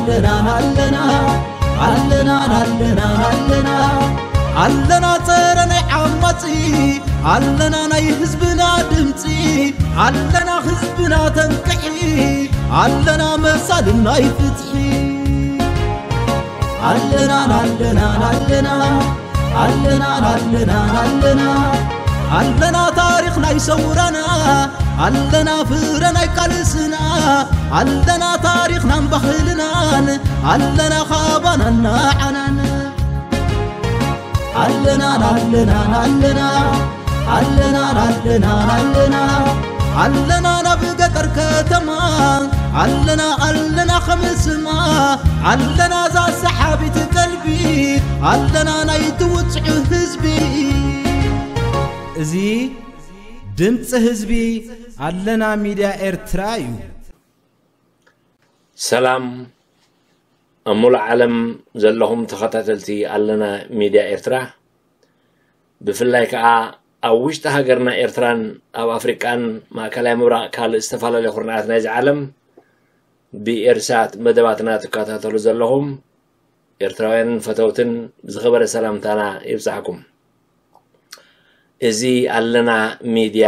ኣለና ኣለና ኣለና ኣለና ኣለና ኣለና ጸረ ናይ ዓማጺ ኣለና ናይ ህዝብና ድምጺ ኣለና ህዝብና ተንቅሒ ኣለና መሳልን ናይ ፍትሒ ኣለና ኣለና ኣለና ኣለና ኣለና ኣለና ኣለና ታሪኽ ናይ ሰውራና ኣለና ፍረ ናይ ቃልስና ኣለና ታሪኽናን ባህልናን ኣለና ካባናን ንዓናን ኣለና ኣለና ኣለና ኣለና ኣለና ኣለና ኣለና ናብ ገጠር ከተማ ኣለና ኣለና ከምስማ ኣለና እዛ ሰሓቢት ቀልቢ ኣለና ናይ ትውፅዕ ህዝቢ እዚ ድምፂ ህዝቢ ኣለና ሚድያ ኤርትራ እዩ። ሰላም ኣብ ሙሉእ ዓለም ዘለኹም ተኸታተልቲ ኣለና ሚድያ ኤርትራ፣ ብፍላይ ከኣ ኣብ ውሽጢ ሃገርና ኤርትራን ኣብ ኣፍሪቃን ማእከላይ ምብራቕ ካልእ ዝተፈላለዩ ኩርናዓት ናይዚ ዓለም ብኤርሳት መደባትና ትከታተሉ ዘለኹም ኤርትራውያንን ፈተውትን ዝኸበረ ሰላምታና ይብጻሕኩም። እዚ ኣለና ሚድያ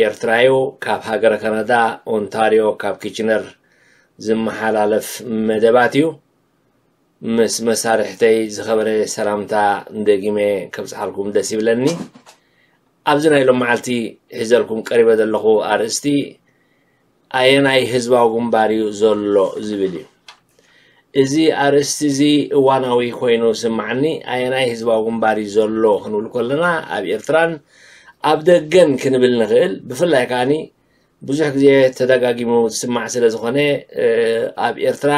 ኤርትራዩ ካብ ሃገረ ካናዳ ኦንታርዮ ካብ ኪችነር ዝመሓላለፍ መደባት እዩ። ምስ መሳርሕተይ ዝኸበረ ሰላምታ ደጊመ ከብጽሓልኩም ደስ ይብለኒ። ኣብዚ ናይ ሎም መዓልቲ ሒዘልኩም ቀሪበ ዘለኹ ኣርእስቲ ኣየናይ ህዝባዊ ግንባር እዩ ዘሎ ዝብል እዩ። እዚ ኣርእስቲ እዚ እዋናዊ ኮይኑ ስምዓኒ። ኣየናይ ህዝባዊ ግንባር እዩ ዘሎ ክንብል ከለና ኣብ ኤርትራን ኣብ ደገን ክንብል ንኽእል። ብፍላይ ከዓኒ ብዙሕ ግዜ ተደጋጊሙ ዝስማዕ ስለ ዝኾነ ኣብ ኤርትራ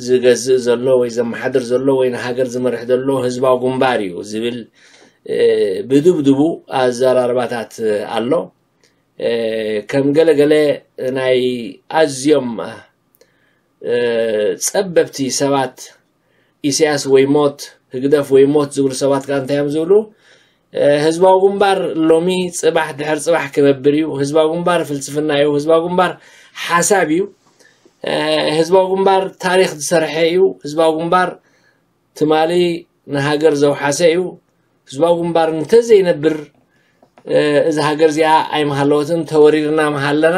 ዝገዝእ ዘሎ ወይ ዘመሓድር ዘሎ ወይ ንሃገር ዝመርሕ ዘሎ ህዝባዊ ግንባር እዩ ዝብል ብድብድቡ ኣዘራርባታት ኣሎ። ከም ገለገለ ናይ ኣዝዮም ጸበብቲ ሰባት ኢሳያስ ወይ ሞት ህግደፍ ወይ ሞት ዝብሉ ሰባት ከኣ እንታይ እዮም ዝብሉ? ህዝባዊ ግንባር ሎሚ ጽባሕ ድሕር ጽባሕ ክነብር እዩ። ህዝባዊ ግንባር ፍልስፍና እዩ። ህዝባዊ ግንባር ሓሳብ እዩ። ህዝባዊ ግንባር ታሪኽ ዝሰርሐ እዩ። ህዝባዊ ግንባር ትማሊ ንሃገር ዘውሓሰ እዩ። ህዝባዊ ግንባር እንተዘይነብር እዚ ሃገር እዚኣ ኣይምሃለወትን፣ ተወሪርና ምሃለና።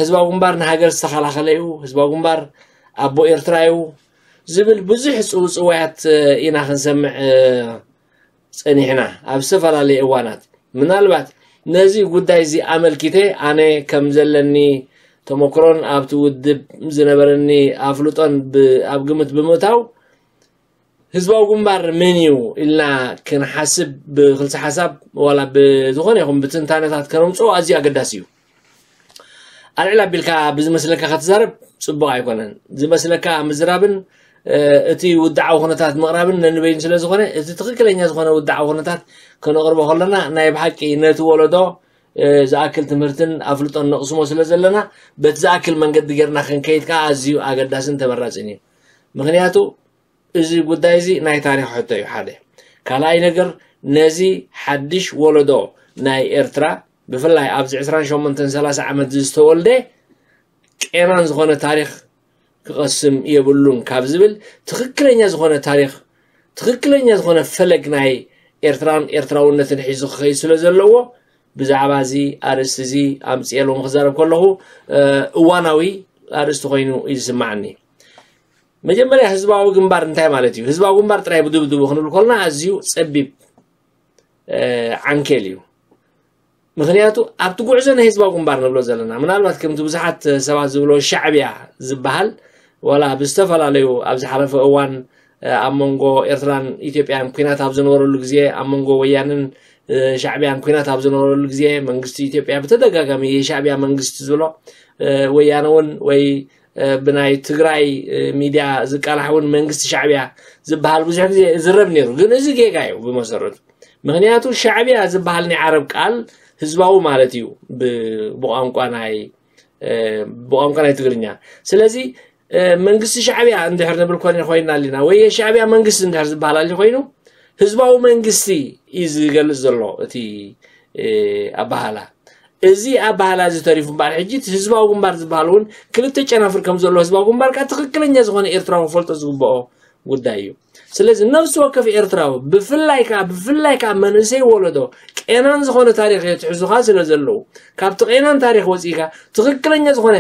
ህዝባዊ ግንባር ንሃገር ዝተኸላኸለ እዩ፣ ህዝባዊ ግንባር ኣቦ ኤርትራ እዩ ዝብል ብዙሕ ጽውጽዋያት ኢና ክንሰምዕ ጸኒሕና ኣብ ዝተፈላለየ እዋናት። ምናልባት ነዚ ጉዳይ እዚ ኣመልኪተ ኣነ ከም ዘለኒ ተመክሮን ኣብቲ ውድብ ዝነበረኒ ኣፍልጦን ኣብ ግምት ብምእታው ህዝባዊ ግንባር መን እዩ ኢልና ክንሓስብ ብክልሲ ሓሳብ ዋላ ብዝኾነ ይኹን ብትንታነታት ከነምፅኦ ኣዝዩ ኣገዳሲ እዩ። ኣልዕል ኣቢልካ ብዝመስለካ ከተዛረብ ፅቡቕ ኣይኮነን። ዝመስለካ ምዝራብን እቲ ውድዓዊ ኩነታት ምቕራብን ነንበይኑ ስለ ዝኾነ እቲ ትኽክለኛ ዝኾነ ውድዓዊ ኩነታት ከነቕርቦ ከለና ናይ ብሓቂ ነቲ ወለዶ ዝኣክል ትምህርትን ኣፍልጦን ነቕስሞ ስለ ዘለና በቲ ዝኣክል መንገዲ ጌርና ክንከይድ ከዓ ኣዝዩ ኣገዳስን ተመራፅን እዩ። ምክንያቱ እዚ ጉዳይ እዚ ናይ ታሪኽ ሕቶ እዩ ሓደ። ካልኣይ ነገር ነዚ ሓድሽ ወለዶ ናይ ኤርትራ ብፍላይ ኣብዚ ዕስራን ሸሞንተን ሰላሳ ዓመት ዝተወልደ ቄናን ዝኾነ ታሪኽ ክቐስም የብሉን ካብ ዝብል ትኽክለኛ ዝኾነ ታሪኽ ትኽክለኛ ዝኾነ ፈለግ ናይ ኤርትራን ኤርትራውነትን ሒዙ ክኸይድ ስለ ዘለዎ ብዛዕባ እዚ ኣርእስቲ እዚ ኣምፅኤ ሎም ክዛረብ ከለኹ እዋናዊ ኣርእስቲ ኮይኑ እዩ ዝስማዓኒ። መጀመርያ ህዝባዊ ግንባር እንታይ ማለት እዩ? ህዝባዊ ግንባር ጥራይ ብድብድቡ ክንብል ከለና ኣዝዩ ጸቢብ ዓንኬል እዩ። ምክንያቱ ኣብቲ ጉዕዞ ናይ ህዝባዊ ግንባር ንብሎ ዘለና ምናልባት ከምቲ ብዙሓት ሰባት ዝብሎ ሻዕብያ ዝበሃል ዋላ ብዝተፈላለዩ ኣብ ዝሓለፈ እዋን ኣብ መንጎ ኤርትራን ኢትዮጵያን ኩናት ኣብ ዝነበረሉ ግዜ ኣብ መንጎ ወያንን ሻዕብያን ኩናት ኣብ ዝነበረሉ ግዜ መንግስቲ ኢትዮጵያ ብተደጋጋሚ የሻዕብያ መንግስቲ ዝብሎ ወያነ እውን ወይ ብናይ ትግራይ ሚድያ ዝቃላሕ እውን መንግስቲ ሻዕብያ ዝበሃል ብዙሕ ግዜ ዝረብ ነይሩ። ግን እዚ ጌጋ እዩ ብመሰረቱ። ምክንያቱ ሻዕብያ ዝበሃል ናይ ዓረብ ቃል ህዝባዊ ማለት እዩ ብቋንቋ ናይ ብቋንቋ ናይ ትግርኛ። ስለዚ መንግስቲ ሻዕብያ እንድሕር ንብል ኮይና ኣለና ወይ የሻዕብያ መንግስቲ እንድሕር ዝበሃል ኣሎ ኮይኑ ህዝባዊ መንግስቲ እዩ ዝገልፅ ዘሎ እቲ ኣበሃላ። እዚ ኣባህላ እዚ ተሪፉ እምበኣር፣ ሕጂ እቲ ህዝባዊ ግንባር ዝበሃል እውን ክልተ ጨናፍር ከም ዘሎ ህዝባዊ ግንባር ከኣ ትኽክለኛ ዝኾነ ኤርትራዊ ክፈልጦ ዝግብኦ ጉዳይ እዩ። ስለዚ ነፍሲ ወከፍ ኤርትራዊ፣ ብፍላይ ከኣ ብፍላይ ከኣ መንእሰይ ወለዶ፣ ቄናን ዝኾነ ታሪኽ የትሕዙኻ ስለ ዘለዉ፣ ካብቲ ቄናን ታሪኽ ወጺእካ ትኽክለኛ ዝኾነ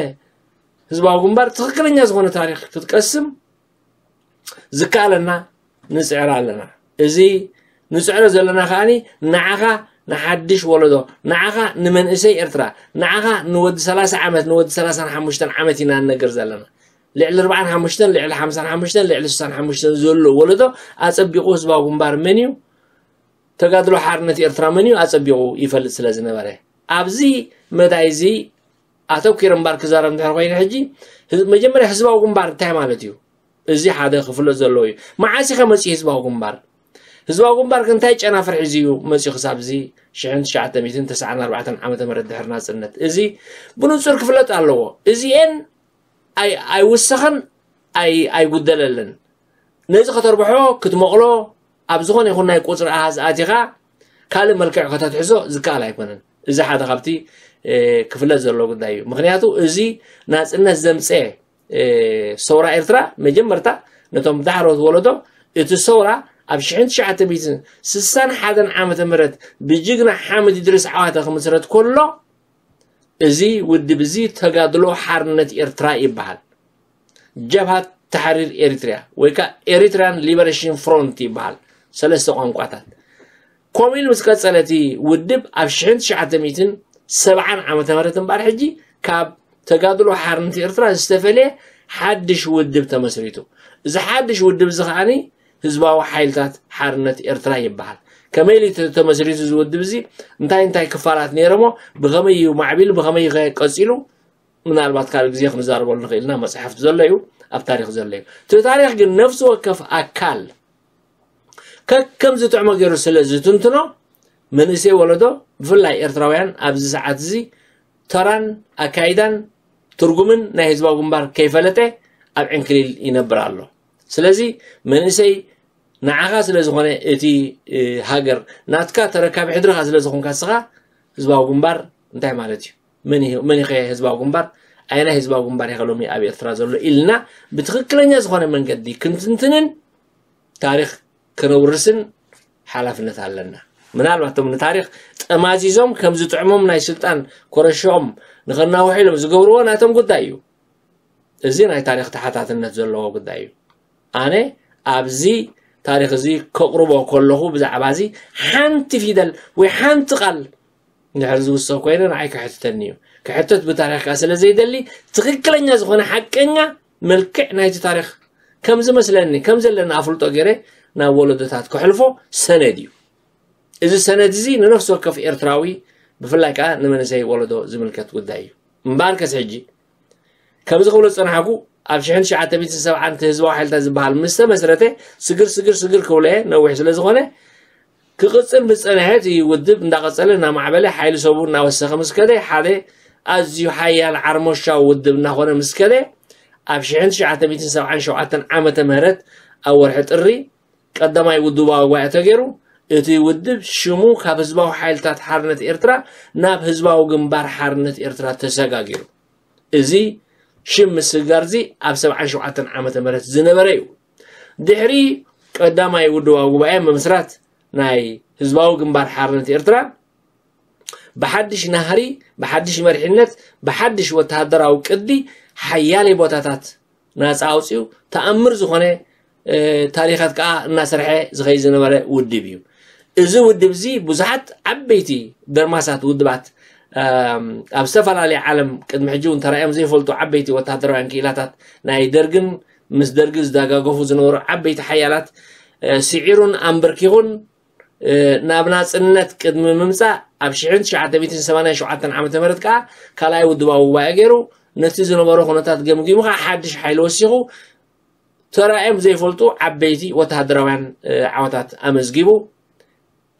ህዝባዊ ግንባር፣ ትኽክለኛ ዝኾነ ታሪኽ ክትቀስም ዝከኣለና ንጽዕር ኣለና። እዚ ንጽዕሮ ዘለና ከኣ ንዓኻ፣ ንሓድሽ ወለዶ፣ ንዓኻ፣ ንመንእሰይ ኤርትራ፣ ንዓኻ፣ ንወዲ ሰላሳ ዓመት፣ ንወዲ ሰላሳን ሓሙሽተን ዓመት ኢና ንነግር ዘለና። ልዕሊ ኣርባዓን ሓሙሽተን፣ ልዕሊ ሓምሳን ሓሙሽተን፣ ልዕሊ ስሳን ሓሙሽተን ዘሎ ወለዶ ኣጸቢቑ ህዝባዊ ግንባር መን እዩ፣ ተጋድሎ ሓርነት ኤርትራ መን እዩ ኣጸቢቑ ይፈልጥ ስለ ዝነበረ፣ ኣብዚ መዳይ እዚ ኣተኲረ እምበር ክዛረብ እንድሕር ኮይኑ፣ ሕጂ ህዝ-፣ መጀመርያ ህዝባዊ ግንባር እንታይ ማለት እዩ? እዚ ሓደ ክፍለጥ ዘለዎ እዩ። መዓስ ኢኸ መጺኡ ህዝባዊ ግንባር? ህዝባዊ ግንባር ከ እንታይ ጨናፍር ሒዙ እዩ መጺኡ ክሳብ እዚ ሽሕን ትሽዓተ ሚእትን ተስዓን ኣርባዕተን ዓመተ ምህረት ድሕሪ ናጽነት? እዚ ብንጹር ክፍለጥ ኣለዎ። እዚኤን ኣይ-፣ ኣይውሰኸን፣ ኣይ-፣ ኣይጉደለለን። ነዚ ከተርብሖ፣ ክትመቕሎ፣ ኣብ ዝኾነ ይኹን ናይ ቁጽሪ ኣሃዝ ኣቲኻ ካልእ መልክዕ ከተትሕዞ ዝከኣል ኣይኮነን። እዚ ሓደ ካብቲ፣ እ፣ ክፍለጥ ዘለዎ ጉዳይ እዩ። ምኽንያቱ እዚ ናጽነት ዘምጸ፣ እ፣ ሰውራ ኤርትራ መጀመርታ ነቶም ዳሕሮት ወለዶ እቲ ሰውራ ኣብ ሽሕን ትሽዓተ ሚእትን ስሳን ሓደን ዓመተ ምህረት ብጅግና ሓምድ ኢድሪስ ዓዋተ ክምስረት ከሎ፣ እዚ ውድብ እዚ ተጋድሎ ሓርነት ኤርትራ ይበሃል። ጀብሃት ተሕሪር ኤሪትሪያ ወይ ከኣ ኤሪትሪያን ሊበሬሽን ፍሮንት ይበሃል። ሰለስተ ቋንቋታት። ከምኡ ኢሉ ምስ ቀጸለ እቲ ውድብ ኣብ ሽሕን ትሽዓተ ሚእትን ሰብዓን ዓመተ ምህረት እምበኣር ሕጂ ካብ ተጋድሎ ሓርነት ኤርትራ ዝተፈልየ ሓድሽ ውድብ ተመስሪቱ። እዚ ሓድሽ ውድብ እዚ ከኣ ህዝባዊ ሓይልታት ሓርነት ኤርትራ ይበሃል። ከመይ ኢሉ ተ-፣ ተመስሪቱ እዚ ውድብ እዚ? እንታይ እንታይ ክፋላት ነይሮሞ? ብኸመይ እዩ ማዕቢሉ? ብኸመይ እዩ ከ ቀጺሉ? ምናልባት ካልእ ግዜ ክንዛረበሉ ንኽእል ኢና። መጽሓፍቲ ዘሎ እዩ፣ ኣብ ታሪኽ ዘሎ እዩ። እቲ ታሪኽ ግን ነፍሲ ወከፍ ኣካል ከከም ዝጥዕሞ ገይሩ ስለ ዝትንትኖ፣ መንእሰይ ወለዶ፣ ብፍላይ ኤርትራውያን ኣብዚ ሰዓት እዚ ተራን ኣካይዳን ትርጉምን ናይ ህዝባዊ ግንባር ከይፈለጠ ኣብ ዕንክሊል ይነብር ኣሎ። ስለዚ መንእሰይ ንዓኻ ስለ ዝኾነ እቲ፣ እ፣ ሃገር ናትካ ተረካቢ ሕድርኻ ስለ ዝኾንካ ንስኻ ህዝባዊ ግንባር እንታይ ማለት እዩ? መን እዩ፣ መን እዩ ከ ህዝባዊ ግንባር? ኣየናይ ህዝባዊ ግንባር እዩ ከ ሎሚ ኣብ ኤርትራ ዘሎ ኢልና ብትኽክለኛ ዝኾነ መንገዲ ክንትንትንን ታሪኽ ከነውርስን ሓላፍነት ኣለና። ምናልባት እቶም ንታሪኽ ጠማዚዞም ከም ዝጥዕሞም ናይ ስልጣን ኮረሾኦም ንኸናውሑ ኢሎም ዝገብርዎ ናቶም ጉዳይ እዩ። እዚ ናይ ታሪኽ ተሓታትነት ዘለዎ ጉዳይ እዩ። ኣነ ኣብዚ ታሪኽ እዚ ከቕርቦ ከለኹ ብዛዕባ እዚ ሓንቲ ፊደል ወይ ሓንቲ ቃል እንድሕር ዝውሰኽ ኮይነ ንዓይ ከሕትተኒ እዩ። ክሕተት ብታሪኽ ከኣ ስለ ዘይደሊ ትኽክለኛ ዝኾነ ሓቀኛ መልክዕ ናይቲ ታሪኽ ከም ዝመስለኒ፣ ከም ዘለኒ ኣፍልጦ ገይረ ናብ ወለዶታት ከሕልፎ ሰነድ እዩ። እዚ ሰነድ እዚ ንነፍሲ ወከፍ ኤርትራዊ ብፍላይ ከኣ ንመንእሰይ ወለዶ ዝምልከት ጉዳይ እዩ። እምበኣርከስ ሕጂ ከምዚ ክብሎ ዝጸናሕኩ ኣብ ሽሕን ትሽዓተ ሚእትን ሰብዓን እቲ ህዝባዊ ሓይልታት ዝበሃል ምስ ተመስረተ ስግር ስግር ስግር ክብሎ እየ፣ ነዊሕ ስለ ዝኾነ ክቕጽል ምስ ጸንሐ እቲ ውድብ እንዳቐጸለ እናማዕበለ ሓይሊ ሰቡ እናወሰኸ ምስ ከደ ሓደ ኣዝዩ ሓያል ዓርሞሻዊ ውድብ እናኾነ ምስ ከደ ኣብ ሽሕን ትሽዓተ ሚእትን ሰብዓን ሸውዓተን ዓመተ ምህረት ኣብ ወርሒ ጥሪ ቀዳማይ ውድባዊ ጉባኤ ተገይሩ፣ እቲ ውድብ ሽሙ ካብ ህዝባዊ ሓይልታት ሓርነት ኤርትራ ናብ ህዝባዊ ግንባር ሓርነት ኤርትራ ተሰጋጊሩ። እዚ ሽም ምስግጋር እዚ ኣብ ሰብዓን ሸውዓተን ዓመተ ምህረት ዝነበረ እዩ። ድሕሪ ቀዳማይ ውድባዊ ጉባኤ ምምስራት ናይ ህዝባዊ ግንባር ሓርነት ኤርትራ ብሓድሽ ናህሪ፣ ብሓድሽ መሪሕነት፣ ብሓድሽ ወተሃደራዊ ቅዲ ሓያለይ ቦታታት ናጻ ኣውጺኡ ተኣምር ዝኾነ፣ እ፣ ታሪኻት ከኣ እናሰርሐ ዝኸይድ ዝነበረ ውድብ እዩ። እዚ ውድብ እዚ ብዙሓት ዓበይቲ ደርማሳት ውድባት፣ እም፣ ኣብ ዝተፈላለየ ዓለም ቅድሚ ሕጂ እውን ተራእዮም ዘይፈልጡ ዓበይቲ ወተሃደራውያን ክኢላታት ናይ ደርግን ምስ ደርጊ ዝደጋገፉ ዝነበሩ ዓበይቲ ሓያላት፣ እ፣ ስዒሩን ኣንበርኪኹን እ፣ ናብ ናጽነት ቅድሚ ምምጻእ ኣብ ሽሕን ትሽዓተ ሚእትን ሰማንያን ሸውዓተን ዓመተ ምህረት ከኣ ካልኣይ ውድባዊ ጉባኤ ገይሩ ነቲ ዝነበሮ ኩነታት ገምጊሙ ከኣ ሓድሽ ሓይሊ ወሲኹ ተራእዮም ዘይፈልጡ ዓበይቲ ወተሃደራውያን፣ እ፣ ዓወታት ኣመዝጊቡ።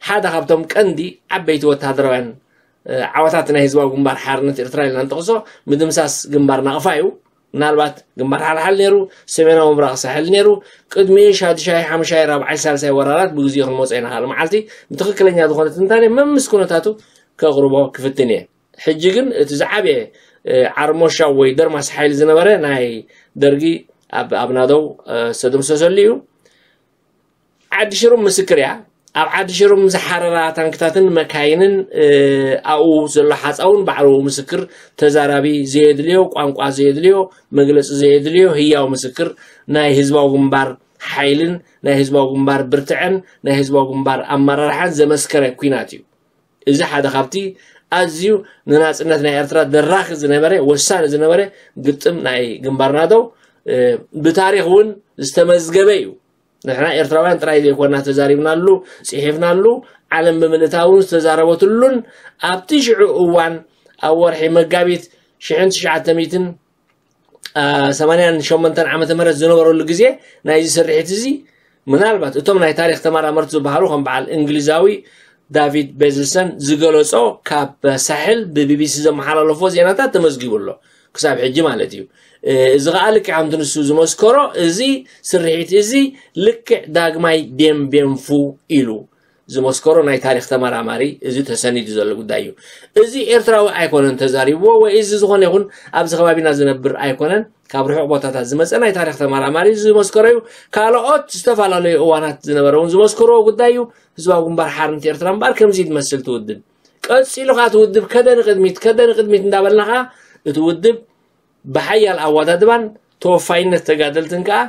ሓደ ካብቶም ቀንዲ ዓበይቲ ወተሃደራውያን፣ እ፣ ዓወታት ናይ ህዝባዊ ግንባር ሓርነት ኤርትራ ኢልና ንጠቕሶ ምድምሳስ ግንባር ናቕፋ እዩ። ምናልባት ግንባር ሓልሓል ነይሩ፣ ሰሜናዊ ምብራቕ ሳሕል ነይሩ። ቅድሚ ሻድሻይ፣ ሓምሻይ፣ ራብዓይ፣ ሳልሳይ ወራራት ብግዜኡ ክንመጾ ኢና። ካልእ መዓልቲ ብትኽክለኛ ዝኾነ ትንታኔ መምስ ኩነታቱ ከቕርቦ ክፍትን እየ። ሕጂ ግን እቲ ዝዓበየ ዓርሞሻው ወይ ደርማስ ሓይሊ ዝነበረ ናይ ደርጊ ኣብ ኣብናደው ዝተደምሰሰሉ እዩ። ዓዲ ሽሩም ምስክር እያ። ኣብ ዓዲ ሽሩም ዝሓረራ ታንክታትን መካይንን ኣብኡ ዘሎ ሓፃውን ባዕሉ ምስክር፣ ተዛራቢ ዘየድልዮ፣ ቋንቋ ዘየድልዮ፣ መግለፂ ዘየድልዮ ህያው ምስክር ናይ ህዝባዊ ግንባር ሓይልን ናይ ህዝባዊ ግንባር ብርትዐን ናይ ህዝባዊ ግንባር ኣመራርሓን ዘመስከረ ኩናት እዩ። እዚ ሓደ ካብቲ ኣዝዩ ንናፅነት ናይ ኤርትራ ደራኺ ዝነበረ፣ ወሳኒ ዝነበረ ግጥም ናይ ግንባር ናደው ብታሪክ እውን ዝተመዝገበ እዩ። ንሕና ኤርትራውያን ጥራይ ዘይኮና ተዛሪብናሉ፣ ፅሒፍናሉ፣ ዓለም ብምልእታ እውን ዝተዛረበትሉን ኣብቲ ሽዑ እዋን ኣብ ወርሒ መጋቢት ሽሕን ትሽዓተ ሚእትን ሰማንያን ሸሞንተን ዓመተ ምህረት ዝነበረሉ ግዜ ናይዚ ስርሒት እዚ ምናልባት እቶም ናይ ታሪክ ተመራመርቲ ዝበሃሉ ከም በዓል እንግሊዛዊ ዳቪድ ቤዝልሰን ዝገለጾ ካብ ሳሕል ብቢቢሲ ዘመሓላለፎ ዜናታት ተመዝጊቡ ኣሎ። ክሳብ ሕጂ ማለት እዩ። እዚ ከዓ ልክዕ ከምቲ ንሱ ዝመስከሮ እዚ ስርሒት እዚ ልክዕ ዳግማይ ቤንቤንፉ ኢሉ ዝመስከሮ ናይ ታሪክ ተመራማሪ እዚ ተሰኒዱ ዘሎ ጉዳይ እዩ። እዚ ኤርትራዊ ኣይኮነን ተዛሪብዎ ወይ እዚ ዝኾነ ይኹን ኣብዚ ከባቢና ዝነብር ኣይኮነን፣ ካብ ርሑቕ ቦታታት ዝመፀ ናይ ታሪክ ተመራማሪ ዝመስከሮ እዩ። ካልኦት ዝተፈላለዩ እዋናት ዝነበረ እውን ዝመስከርዎ ጉዳይ እዩ። ህዝባዊ ግንባር ሓርነት ኤርትራ እምበኣር ከምዚ ትመስል ትውድብ ቀፂሉ ከዓ ትውድብ ከደ ንቅድሚት ከደ ንቅድሚት እንዳበልና ከዓ እቲ ውድብ ብሓያል ኣወዳድባን ተወፋይነት ተጋደልትን ከዓ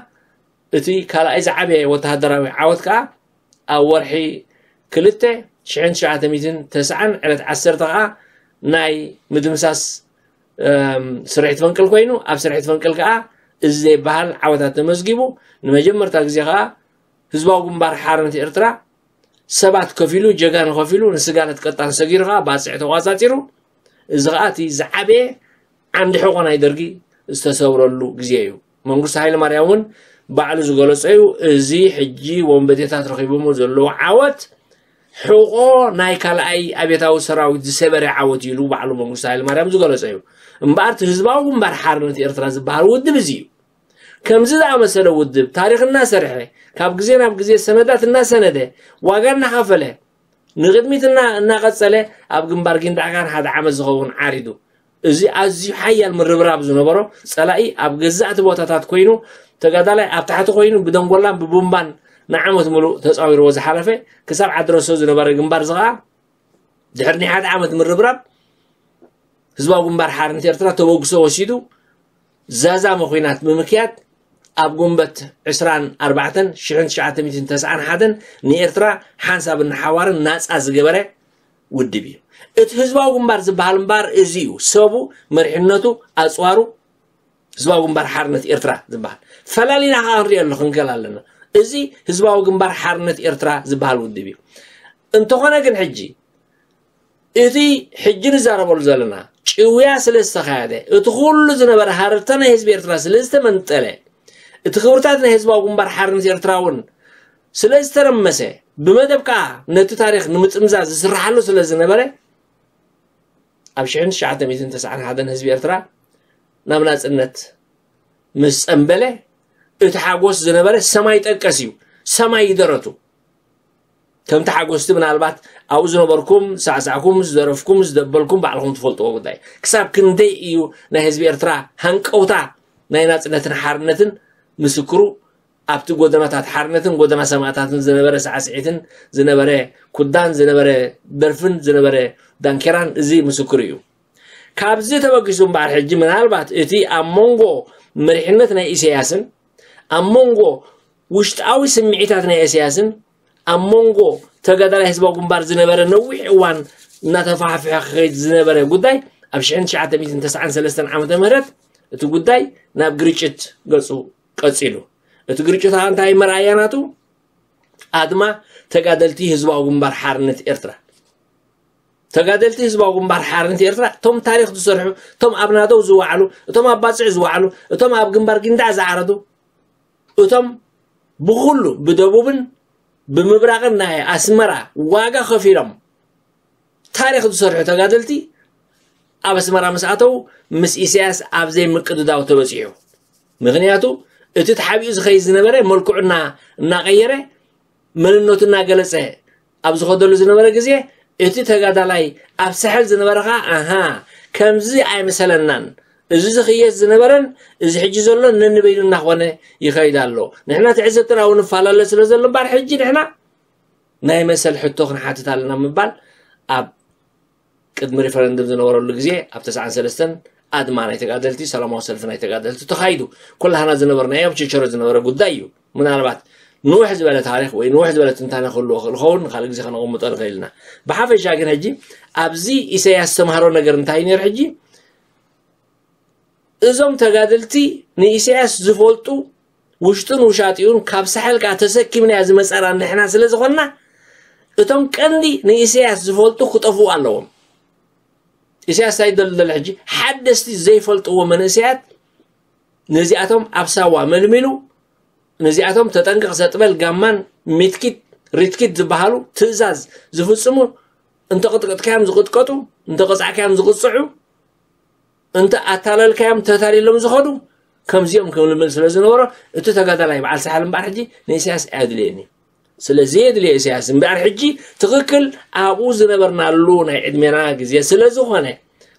እቲ ካልኣይ ዝዓበየ ወተሃደራዊ ዓወት ከዓ ኣብ ወርሒ ክልተ ሽሕን ትሽዓተ ሚእትን ተስዓን ዕለት ዓሰርተ ከዓ ናይ ምድምሳስ ስርሒት ፈንቅል ኮይኑ ኣብ ስርሒት ፈንቅል ከዓ እዚ ዘይበሃል ዓወታት ተመዝጊቡ ንመጀመርታ ግዜ ከዓ ህዝባዊ ግንባር ሓርነት ኤርትራ ሰባት ከፊሉ ጀጋኑ ከፊሉ ንስጋለት ቀጣን ሰጊሩ ከዓ ባፅዕ ተቋፃፂሩ እዚ ከዓ እቲ ዝዓበየ ዓንዲ ሕቆ ናይ ደርጊ ዝተሰብረሉ ግዜ እዩ። መንግስቱ ሃይለ ማርያም እውን ባዕሉ ዝገለፀ እዩ። እዚ ሕጂ ወንበዴታት ረኪቦሞ ዘለዉ ዓወት ሕቆ ናይ ካልኣይ ኣብዮታዊ ሰራዊት ዝሰበረ ዓወት ኢሉ ባዕሉ መንግስቱ ሃይለ ማርያም ዝገለፀ እዩ። እምበኣር እቲ ህዝባዊ ግንባር ሓርነት ኤርትራ ዝበሃል ውድብ እዚ እዩ። ከምዚ ዝኣመሰለ ውድብ ታሪክ እናሰርሐ ካብ ግዜ ናብ ግዜ ሰነዳት እናሰነደ ዋጋ እናኸፈለ ንቅድሚት እና እናቀፀለ ኣብ ግንባር ጊንዳዕ ካን ሓደ ዓመት ዝኸውን ዓሪዱ። እዚ ኣዝዩ ሓያል ምርብራብ ዝነበሮ ፀላኢ ኣብ ገዛእቲ ቦታታት ኮይኑ ተጋዳላይ ኣብ ታሕቲ ኮይኑ ብደንጎላን ብቡምባን ንዓመት ሙሉእ ተፃዊርዎ ዝሓለፈ ክሳብ ዓዲ ረሶ ዝነበረ ግንባር እዚ ከዓ ድሕሪ ናይ ሓደ ዓመት ምርብራብ ህዝባዊ ግንባር ሓርነት ኤርትራ ተበግሶ ወሲዱ ዛዛመ ኹናት ብምክያድ ኣብ ጉንበት ዕስራን ኣርባዕተን ሽሕን ትሽዓተ ሚእትን ተስዓን ሓደን ንኤርትራ ሓንሳብን ንሓዋርን ናፃ ዝገበረ ውድብ እዩ። እቲ ህዝባዊ ግንባር ዝበሃል እምበኣር እዚ እዩ። ሰቡ፣ መሪሕነቱ፣ ኣፅዋሩ ህዝባዊ ግንባር ሓርነት ኤርትራ ዝበሃል ፈላሊና ከዓ ክንሪኦ ኣሎ ክንከል ኣለና። እዚ ህዝባዊ ግንባር ሓርነት ኤርትራ ዝበሃል ውድብ እዩ። እንተኾነ ግን ሕጂ እቲ ሕጂ ንዛረበሉ ዘለና ጭውያ ስለ ዝተኻየደ እቲ ኩሉ ዝነበረ ሃረርታ ናይ ህዝቢ ኤርትራ ስለ ዝተመንጠለ እቲ ክብርታት ናይ ህዝባዊ ግንባር ሓርነት ኤርትራ እውን ስለ ዝተረመሰ ብመደብ ከዓ ነቲ ታሪክ ንምጥምዛዝ ዝስርሓሉ ስለ ዝነበረ ኣብ ሽሕን ትሽዓተ ሚእትን ተስዓን ሓደን ህዝቢ ኤርትራ ናብ ናጽነት ምስ ጸንበለ እቲ ሓጎስ ዝነበረ ሰማይ ጠቀስ እዩ። ሰማይ ይደረቱ። ከምቲ ሓጎስቲ ምናልባት ኣብኡ ዝነበርኩም ሳዕሳዕኩም ዝደረፍኩም ዝደበልኩም ባዕልኹም ትፈልጥዎ ጉዳይ ክሳብ ክንደይ እዩ ናይ ህዝቢ ኤርትራ ሃንቀውታ ናይ ናጽነትን ሓርነትን ምስክሩ ኣብቲ ጎደናታት ሓርነትን ጎደና ሰማእታትን ዝነበረ ሳዕስዒትን ዝነበረ ኩዳን ዝነበረ ደርፍን ዝነበረ ዳንኬራን እዚ ምስክሩ እዩ። ካብዚ ተበጊሱ እምበኣር ሕጂ ምናልባት እቲ ኣብ መንጎ መሪሕነት ናይ ኢሳያስን ኣብ መንጎ ውሽጣዊ ስምዒታት ናይ ኢሳያስን ኣብ መንጎ ተጋዳላይ ህዝባዊ ግንባር ዝነበረ ነዊሕ እዋን እናተፋሕፍሐ ክኸይድ ዝነበረ ጉዳይ ኣብ ሽሕን ትሽዓተ ሚእትን ተስዓን ሰለስተን ዓመተ ምህረት እቲ ጉዳይ ናብ ግርጭት ገጹ ቀጺሉ። እቲ ግርጭት ከዓ እንታይ መርኣያ ናቱ? ኣድማ ተጋደልቲ ህዝባዊ ግንባር ሓርነት ኤርትራ። ተጋደልቲ ህዝባዊ ግንባር ሓርነት ኤርትራ እቶም ታሪክ ዝሰርሑ፣ እቶም ኣብ ናደው ዝወዓሉ፣ እቶም ኣብ ባጽዕ ዝወዓሉ፣ እቶም ኣብ ግንባር ጊንዳዕ ዝዓረዱ፣ እቶም ብኹሉ ብደቡብን ብምብራቕን ናይ ኣስመራ ዋጋ ከፊሎም ታሪክ ዝሰርሑ ተጋደልቲ ኣብ ኣስመራ ምስ ኣተው ምስ ኢሳያስ ኣብ ዘይምቅድዳው ተበጺሑ። ምክንያቱ እቲ ተሓቢኡ ዝኸይድ ዝነበረ መልክዑ እና እናቀየረ መንነቱ እናገለጸ ኣብ ዝኸደሉ ዝነበረ ግዜ እቲ ተጋዳላይ ኣብ ሳሕል ዝነበረ ኸዓ ኣሃ፣ ከምዚ ኣይመሰለናን፣ እዚ ዝኽየስ ዝነበረን እዚ ሕጂ ዘሎን ነንበይኑ እናኾነ ይኸይድ ኣሎ። ንሕና ትዕዝብትና እውን ንፈላለ ስለ ዘሎ እምበኣር ሕጂ ንሕና ናይ መሰል ሕቶ ክንሓትት ኣለና ምባል ኣብ ቅድሚ ሪፈረንድም ዝነበረሉ ግዜ ኣብ ተስዓን ሰለስተን ኣድማ ናይ ተጋደልቲ፣ ሰላማዊ ሰልፊ ናይ ተጋደልቲ ተኻይዱ። ኩላህና ዝነበርናዮ ኣብ ችቸሮ ዝነበረ ጉዳይ እዩ። ምናልባት ንውሕ ዝበለ ታሪኽ ወይ ንውሕ ዝበለ ትንታነ ክህልዎ ክእል ኸውን ንካልእ ግዜ ከነቐምጦ ንኽእል ኢና። ብሓፈሻ ግን ሕጂ ኣብዚ ኢሳያስ ዝተምሃሮ ነገር እንታይ ነይሩ? ሕጂ እዞም ተጋደልቲ ንኢሳያስ ዝፈልጡ ውሽጡን ውሻጢኡን ካብ ሳሕል ከዓ ተሰኪምናያ ዝመፃና ንሕና ስለ ዝኾንና እቶም ቀንዲ ንኢሳያስ ዝፈልጡ ክጠፍኡ ኣለዎም። ኢሳያስ እንታይ ይደሊ ዘሎ ሕጂ? ሓደስቲ ዘይፈልጥዎ መንእሰያት ነዚኣቶም ኣብ ሳዋ መልሚሉ ነዚኣቶም ተጠንቀቕ ሰጥበል ጋማን ሚትኪት ሪትኪት ዝበሃሉ ትእዛዝ ዝፍጽሙ እንተ ቅጥቅጥካዮም ዝቕጥቀጡ እንተ ቅጻዕካዮም ዝቕጽዑ እንተ ኣታለልካዮም ተታሊሎም ዝኸዱ ከምዚኦም ክምልምል ስለ ዝነበሮ እቲ ተጋዳላይ በዓል ሳሕል እምበኣር ሕጂ ንኢሳያስ ኣየድልየኒ ስለ ዘየድልየ ኢሳያስ እምበኣር ሕጂ ትኽክል ኣብኡ ዝነበርናሉ ናይ ዕድሜና ግዜ ስለ ዝኾነ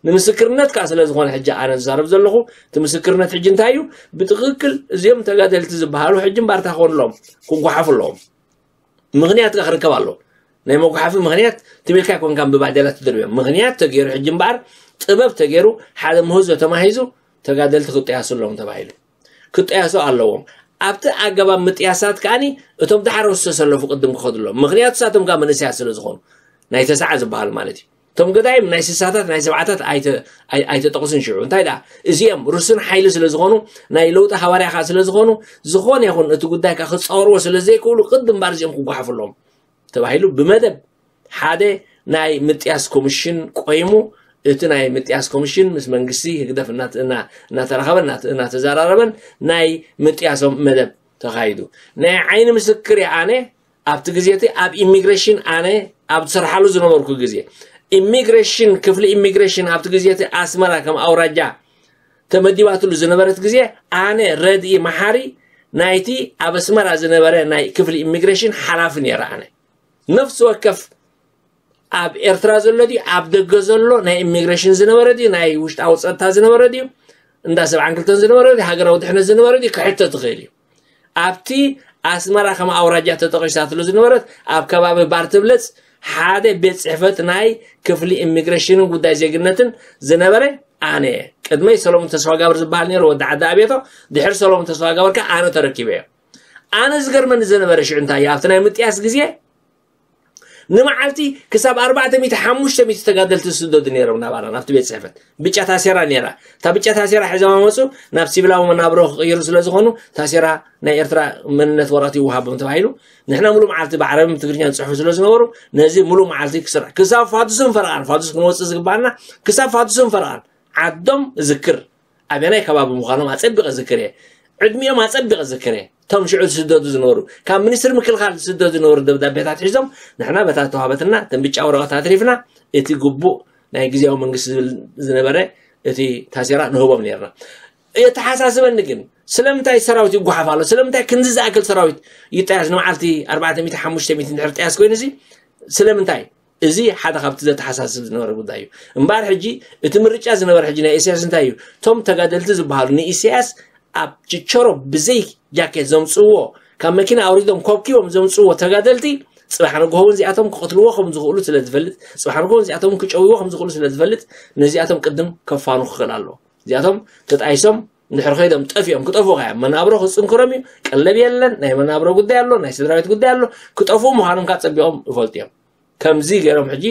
ንምስክርነት ከዓ ስለ ዝኾነ ሕጂ ኣነ ዝዛረብ ዘለኹ እቲ ምስክርነት ሕጂ እንታይ እዩ ብትኽክል እዚኦም ተጋደልቲ ዝበሃሉ ሕጂ እምበኣር እንታይ ክኾኑ ኣለዎም ክጓሓፉ ኣለዎም ምኽንያት ከዓ ክርከብ ኣለዎ ናይ መጉሓፊ ምኽንያት ትም ኢልካ ኣይኮንካን ብባዴላ ትድርብዮም ምኽንያት ተገይሩ ሕጂ እምበኣር ጥበብ ተገይሩ ሓደ ምህዞ ተማሂዙ ተጋደልቲ ክጠያሱ ኣለዎም ተባሂሉ ክጠያሱ ኣለዎም ኣብቲ ኣገባብ ምጥያሳት ከዓኒ እቶም ዳሕረው ዝተሰለፉ ቅድም ክኸዱ ኣለዎም ምኽንያቱ ንሳቶም ከዓ መንእሰያት ስለ ዝኾኑ ናይ ተስዓ ዝበሃሉ ማለት እዩ እቶም ገዳይም ናይ ስሳታት ናይ ሰብዓታት ኣይተ- ኣይ- ኣይተጠቕሱን ሽዑ እንታይ ደኣ እዚኦም ርሱን ሓይሊ ስለ ዝኾኑ ናይ ለውጢ ሃዋርያ ከዓ ስለ ዝኾኑ ዝኾነ ይኹን እቲ ጉዳይ ከዓ ክፃወርዎ ስለ ዘይክእሉ ቅድም እምበኣር እዚኦም ክጓሓፉ ኣለዎም ተባሂሉ ብመደብ ሓደ ናይ ምጥያስ ኮሚሽን ቆይሙ እቲ ናይ ምጥያስ ኮሚሽን ምስ መንግስቲ ህግደፍ እናተ- እና- እናተራኸበን እናተ- እናተዘራረበን ናይ ምጥያሶም መደብ ተኻይዱ ናይ ዓይኒ ምስክር እየ ኣነ ኣብቲ ግዜ እቲ ኣብ ኢሚግሬሽን ኣነ ኣብ ዝሰርሓሉ ዝነበርኩ ግዜ ኢሚግሬሽን ክፍሊ ኢሚግሬሽን ኣብቲ ግዜ እቲ ኣስመራ ከም ኣውራጃ ተመዲባትሉ ዝነበረት ግዜ ኣነ ረድኢ መሓሪ ናይቲ ኣብ ኣስመራ ዝነበረ ናይ ክፍሊ ኢሚግሬሽን ሓላፊ ነይረ ኣነ ነፍሲ ወከፍ ኣብ ኤርትራ ዘሎ ድዩ ኣብ ደገ ዘሎ ናይ ኢሚግሬሽን ዝነበረ ድዩ ናይ ውሽጣዊ ፀጥታ ዝነበረ ድዩ እንዳ ሰብዓን ክልተን ዝነበረ ድዩ ሃገራዊ ድሕነት ዝነበረ ድዩ ክሕተት ይኽእል እዩ ኣብቲ ኣስመራ ከም ኣውራጃ ተጠቒሳትሉ ዝነበረት ኣብ ከባቢ ባርትብለጽ ሓደ ቤት ፅሕፈት ናይ ክፍሊ ኢሚግሬሽንን ጉዳይ ዜግነትን ዝነበረ ኣነ እየ ቅድመይ ሰሎሞን ተስፋጋብር ዝበሃል ነይሩ ወዲ ዓዲ ኣቤቶ ድሕሪ ሰሎሞን ተስፋጋብር ከ ኣነ ተረኪበ እየ ኣነ ዝገርመኒ ዝነበረ ሽዑ እንታይ ኣብቲ ናይ ምጥያስ ግዜ ንመዓልቲ ክሳብ ኣርባዕተ ሚእቲ ሓሙሽተ ሚእቲ ተጋደልቲ ዝስደዱ ነይሮም ናባና ናብቲ ቤት ፅሕፈት ብጫ ታሴራ ነይራ እታ ብጫ ታሴራ ሒዞም ኣመፁ ናብ ሲቪላዊ መናብሮ ክቕይሩ ስለ ዝኾኑ ታሴራ ናይ ኤርትራ መንነት ወረቐት ይወሃቦም ተባሂሉ ንሕና ሙሉእ መዓልቲ ብዓረብን ትግርኛን ዝፅሕፉ ስለ ዝነበሩ ነዚ ሙሉእ መዓልቲ ክስራሕ ክሳብ ፋዱስን ፈረቓን ፋዱስ ክንወፅእ ዝግባኣና ክሳብ ፋዱስን ፈረቓን ዓዶም እዝክር ኣበናይ ከባቢ ምዃኖም ኣጸቢቐ ዝክር እየ። ዕድሚኦም ኣጸቢቐ ዝክር እየ። እቶም ሽዑ ዝስደዱ ዝነበሩ፣ ካብ ሚኒስትሪ ምክልኻል ዝስደዱ ዝነበሩ ደብዳቤታት ሒዞም፣ ንሕና በታ ዝተዋህበትና እተን ብጫ ወረቐት ኣትሪፍና፣ እቲ ግቡእ ናይ ግዝያዊ መንግስቲ ዝብል ዝነበረ እቲ ታሴራ ንህቦም ነርና። የተሓሳስበኒ ግን፣ ስለምንታይ ሰራዊት ይጓሓፍ ኣሎ? ስለምንታይ ክንዚ ዝኣክል ሰራዊት ይጠያስ? ንመዓልቲ ኣርባዕተ ሚእቲ፣ ሓሙሽተ ሚእቲ እንድሕር ጥያስ ኮይኑ እዚ ስለምንታይ? እዚ ሓደ ካብቲ ዘተሓሳስብ ዝነበረ ጉዳይ እዩ። እምበኣር ሕጂ እቲ ምርጫ ዝነበረ ሕጂ ናይ ኢሳያስ እንታይ እዩ? እቶም ተጋደልቲ ዝበሃሉ ንኢሳያስ ኣብ ችቸሮ ብዘይ ጃኬት ዘምፅእዎ፣ ካብ መኪና ኣውሪዶም ኮብኪቦም ዘምፅእዎ ተጋደልቲ ፅባሕ ንግሆ እውን እዚኣቶም ክቕትልዎ ከም ዝኽእሉ ስለ ዝፈልጥ፣ ፅባሕ ንግሆ እውን እዚኣቶም ክጨውይዎ ከም ዝኽእሉ ስለ ዝፈልጥ ነዚኣቶም ቅድም ከፋኑ ክኽእል ኣለዎ። እዚኣቶም ተጣይሶም እንድሕር ከይዶም ጠፊኦም ክጠፍኡ ከያ መናብሮ ክፅንክሮም እዩ። ቀለብ የለን፣ ናይ መናብሮ ጉዳይ ኣሎ፣ ናይ ስድራ ቤት ጉዳይ ኣሎ። ክጠፍኡ ምዃኖም ከዓ ፀቢቖም ይፈልጡ እዮም። ከምዚ ገይሮም ሕጂ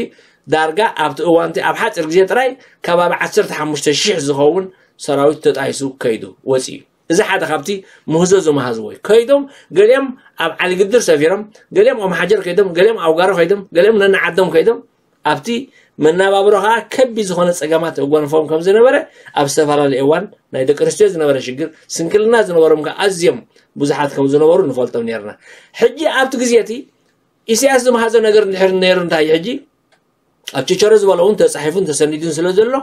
ዳርጋ ኣብቲ እዋንቲ ኣብ ሓፂር ግዜ ጥራይ ከባቢ ዓሰርተ ሓሙሽተ ሺሕ ዝኸውን ሰራዊት ተጣይሱ ከይዱ ወፂኡ እዩ። እዚ ሓደ ካብቲ ምህዞ ዝመሃዝዎ እዩ። ከይዶም ገሊኦም ኣብ ዓሊግድር ሰፊሮም፣ ገሊኦም ኦም ሓጀር ከይዶም፣ ገሊኦም ኣውጋሮ ከይዶም፣ ገሊኦም ነንዓዶም ከይዶም ኣብቲ መናባብሮ ከዓ ከቢድ ዝኾነ ፀገማት የጓንፎም ከም ዝነበረ ኣብ ዝተፈላለየ እዋን ናይ ደቂ ኣንስትዮ ዝነበረ ሽግር ስንክልና ዝነበሮም ከዓ ኣዝዮም ብዙሓት ከም ዝነበሩ ንፈልጦም ነርና። ሕጂ ኣብቲ ግዜ እቲ ኢሳያስ ዝመሃዞ ነገር እንድሕር ነይሩ እንታይ ሕጂ ኣብ ችቸሮ ዝበሎ እውን ተፃሒፉን ተሰኒዱን ስለ ዘሎ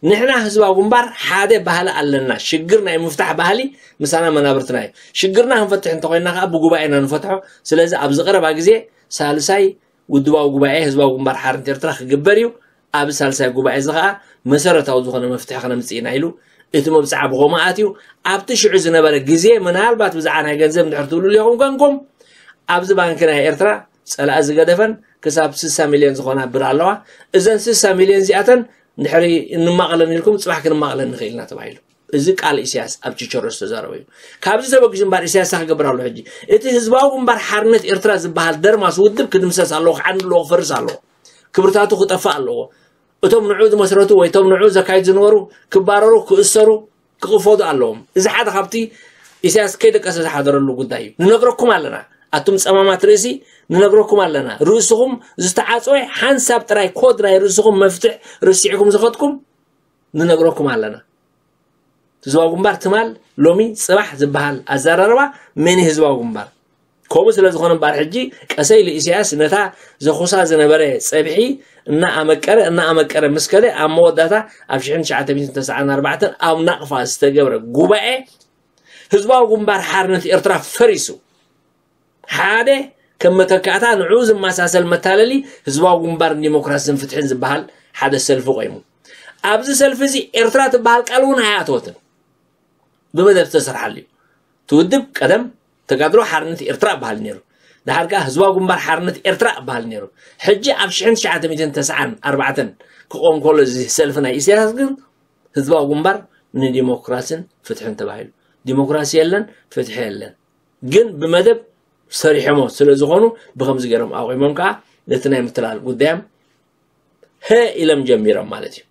ንሕና ህዝባዊ ግንባር ሓደ ባህሊ ኣለና። ሽግር ናይ ምፍታሕ ባህሊ ምሳና መናብርትና እዩ። ሽግርና ክንፈትሕ እንተኮይንና ከዓ ብጉባኤ ኢና ንፈትሖ። ስለዚ ኣብዚ ቀረባ ግዜ ሳልሳይ ውድባዊ ጉባኤ ህዝባዊ ግንባር ሓርነት ኤርትራ ክግበር እዩ። ኣብ ሳልሳይ ጉባኤ እዚ ከዓ መሰረታዊ ዝኾነ መፍትሒ ከነምፅእ ኢና ኢሉ እቲ መብፅዓ ብኸምኡ ኣትዩ። ኣብቲ ሽዑ ዝነበረ ግዜ ምናልባት ብዛዕባ ናይ ገንዘብ እንድሕር ትብሉ ኢኹም ኮንኩም ኣብዚ ባንኪ ናይ ኤርትራ ፀላኢ ዝገደፈን ክሳብ ስሳ ሚልዮን ዝኾና ብር ኣለዋ። እዘን ስሳ ሚልዮን እዚኣተን እንድሕሪ እንማቕለን ኢልኩም ፅባሕ ክንማቕለን ንኽእል ኢና ተባሂሉ። እዚ ቃል ኢሳያስ ኣብ ችቸሮ ዝተዛረበ እዩ። ካብዚ ተበጊሱ እምበር ኢሳያስ ክገብር ኣሎ። ሕጂ እቲ ህዝባዊ ግንባር ሓርነት ኤርትራ ዝበሃል ደርማስ ውድብ ክድምሰስ ኣለዎ፣ ክዓኒ ኣለዎ፣ ክፈርስ ኣለዎ። ክብርታቱ ክጠፍእ ኣለዎ። እቶም ንዑ ዝመስረቱ ወይ እቶም ንዑ ዘካይድ ዝነበሩ ክባረሩ፣ ክእሰሩ፣ ክቕፈዱ ኣለዎም። እዚ ሓደ ካብቲ ኢሳያስ ከይደቀሰ ዝሓደረሉ ጉዳይ እዩ። ንነግረኩም ኣለና፣ ኣቱም ጸማማት ርእሲ፣ ንነግረኩም ኣለና። ርእስኹም ዝተዓጽወ ሓንሳብ ጥራይ ኮድ ናይ ርእስኹም መፍትሕ ርሲዕኩም ዝኸድኩም ንነግረኩም ኣለና። ህዝባዊ ግንባር ትማል ሎሚ ጽባሕ ዝበሃል ኣዘራርባ መን እዩ ህዝባዊ ግንባር? ከምኡ ስለ ዝኾነ እምበኣር ሕጂ ቀሰ ኢሉ ኢሳያስ ነታ ዘኹሳ ዝነበረ ጸብሒ እናኣመቀረ እናኣመቀረ ምስ ከደ ኣብ መወዳእታ ኣብ ሽሕን ትሽዓተ ሚእትን ተስዓን ኣርባዕተን ኣብ ናቕፋ ዝተገብረ ጉባኤ ህዝባዊ ግንባር ሓርነት ኤርትራ ፈሪሱ። ሓደ ከም መተካእታ ንዕኡ ዝመሳሰል መታለሊ ህዝባዊ ግንባር ንዲሞክራስን ፍትሕን ዝበሃል ሓደ ሰልፊ ቆይሙ። ኣብዚ ሰልፊ እዚ ኤርትራ ትበሃል ቃል እውን ኣይኣተወትን። ብመደብ ዝተሰርሓሉ እዩ። እቲ ውድብ ቀደም ተጋድሎ ሓርነት ኤርትራ እበሃል ነይሩ። ድሓር ከኣ ህዝባዊ ግንባር ሓርነት ኤርትራ እበሃል ነይሩ። ሕጂ ኣብ ሽሕን ትሽዓተ ሚእትን ተስዓን ኣርባዕተን ክቆም ከሎ እዚ ሰልፊ ናይ ኢሳያስ ግን ህዝባዊ ግንባር ንዲሞክራስን ፍትሕን ተባሂሉ። ዲሞክራሲ የለን፣ ፍትሒ የለን። ግን ብመደብ ሰሪሖሞ ስለ ዝኾኑ ብኸምዚ ገይሮም ኣቑሞም ከኣ ነቲ ናይ ምትላል ጉዳዮም ሀ ኢሎም ጀሚሮም ማለት እዩ።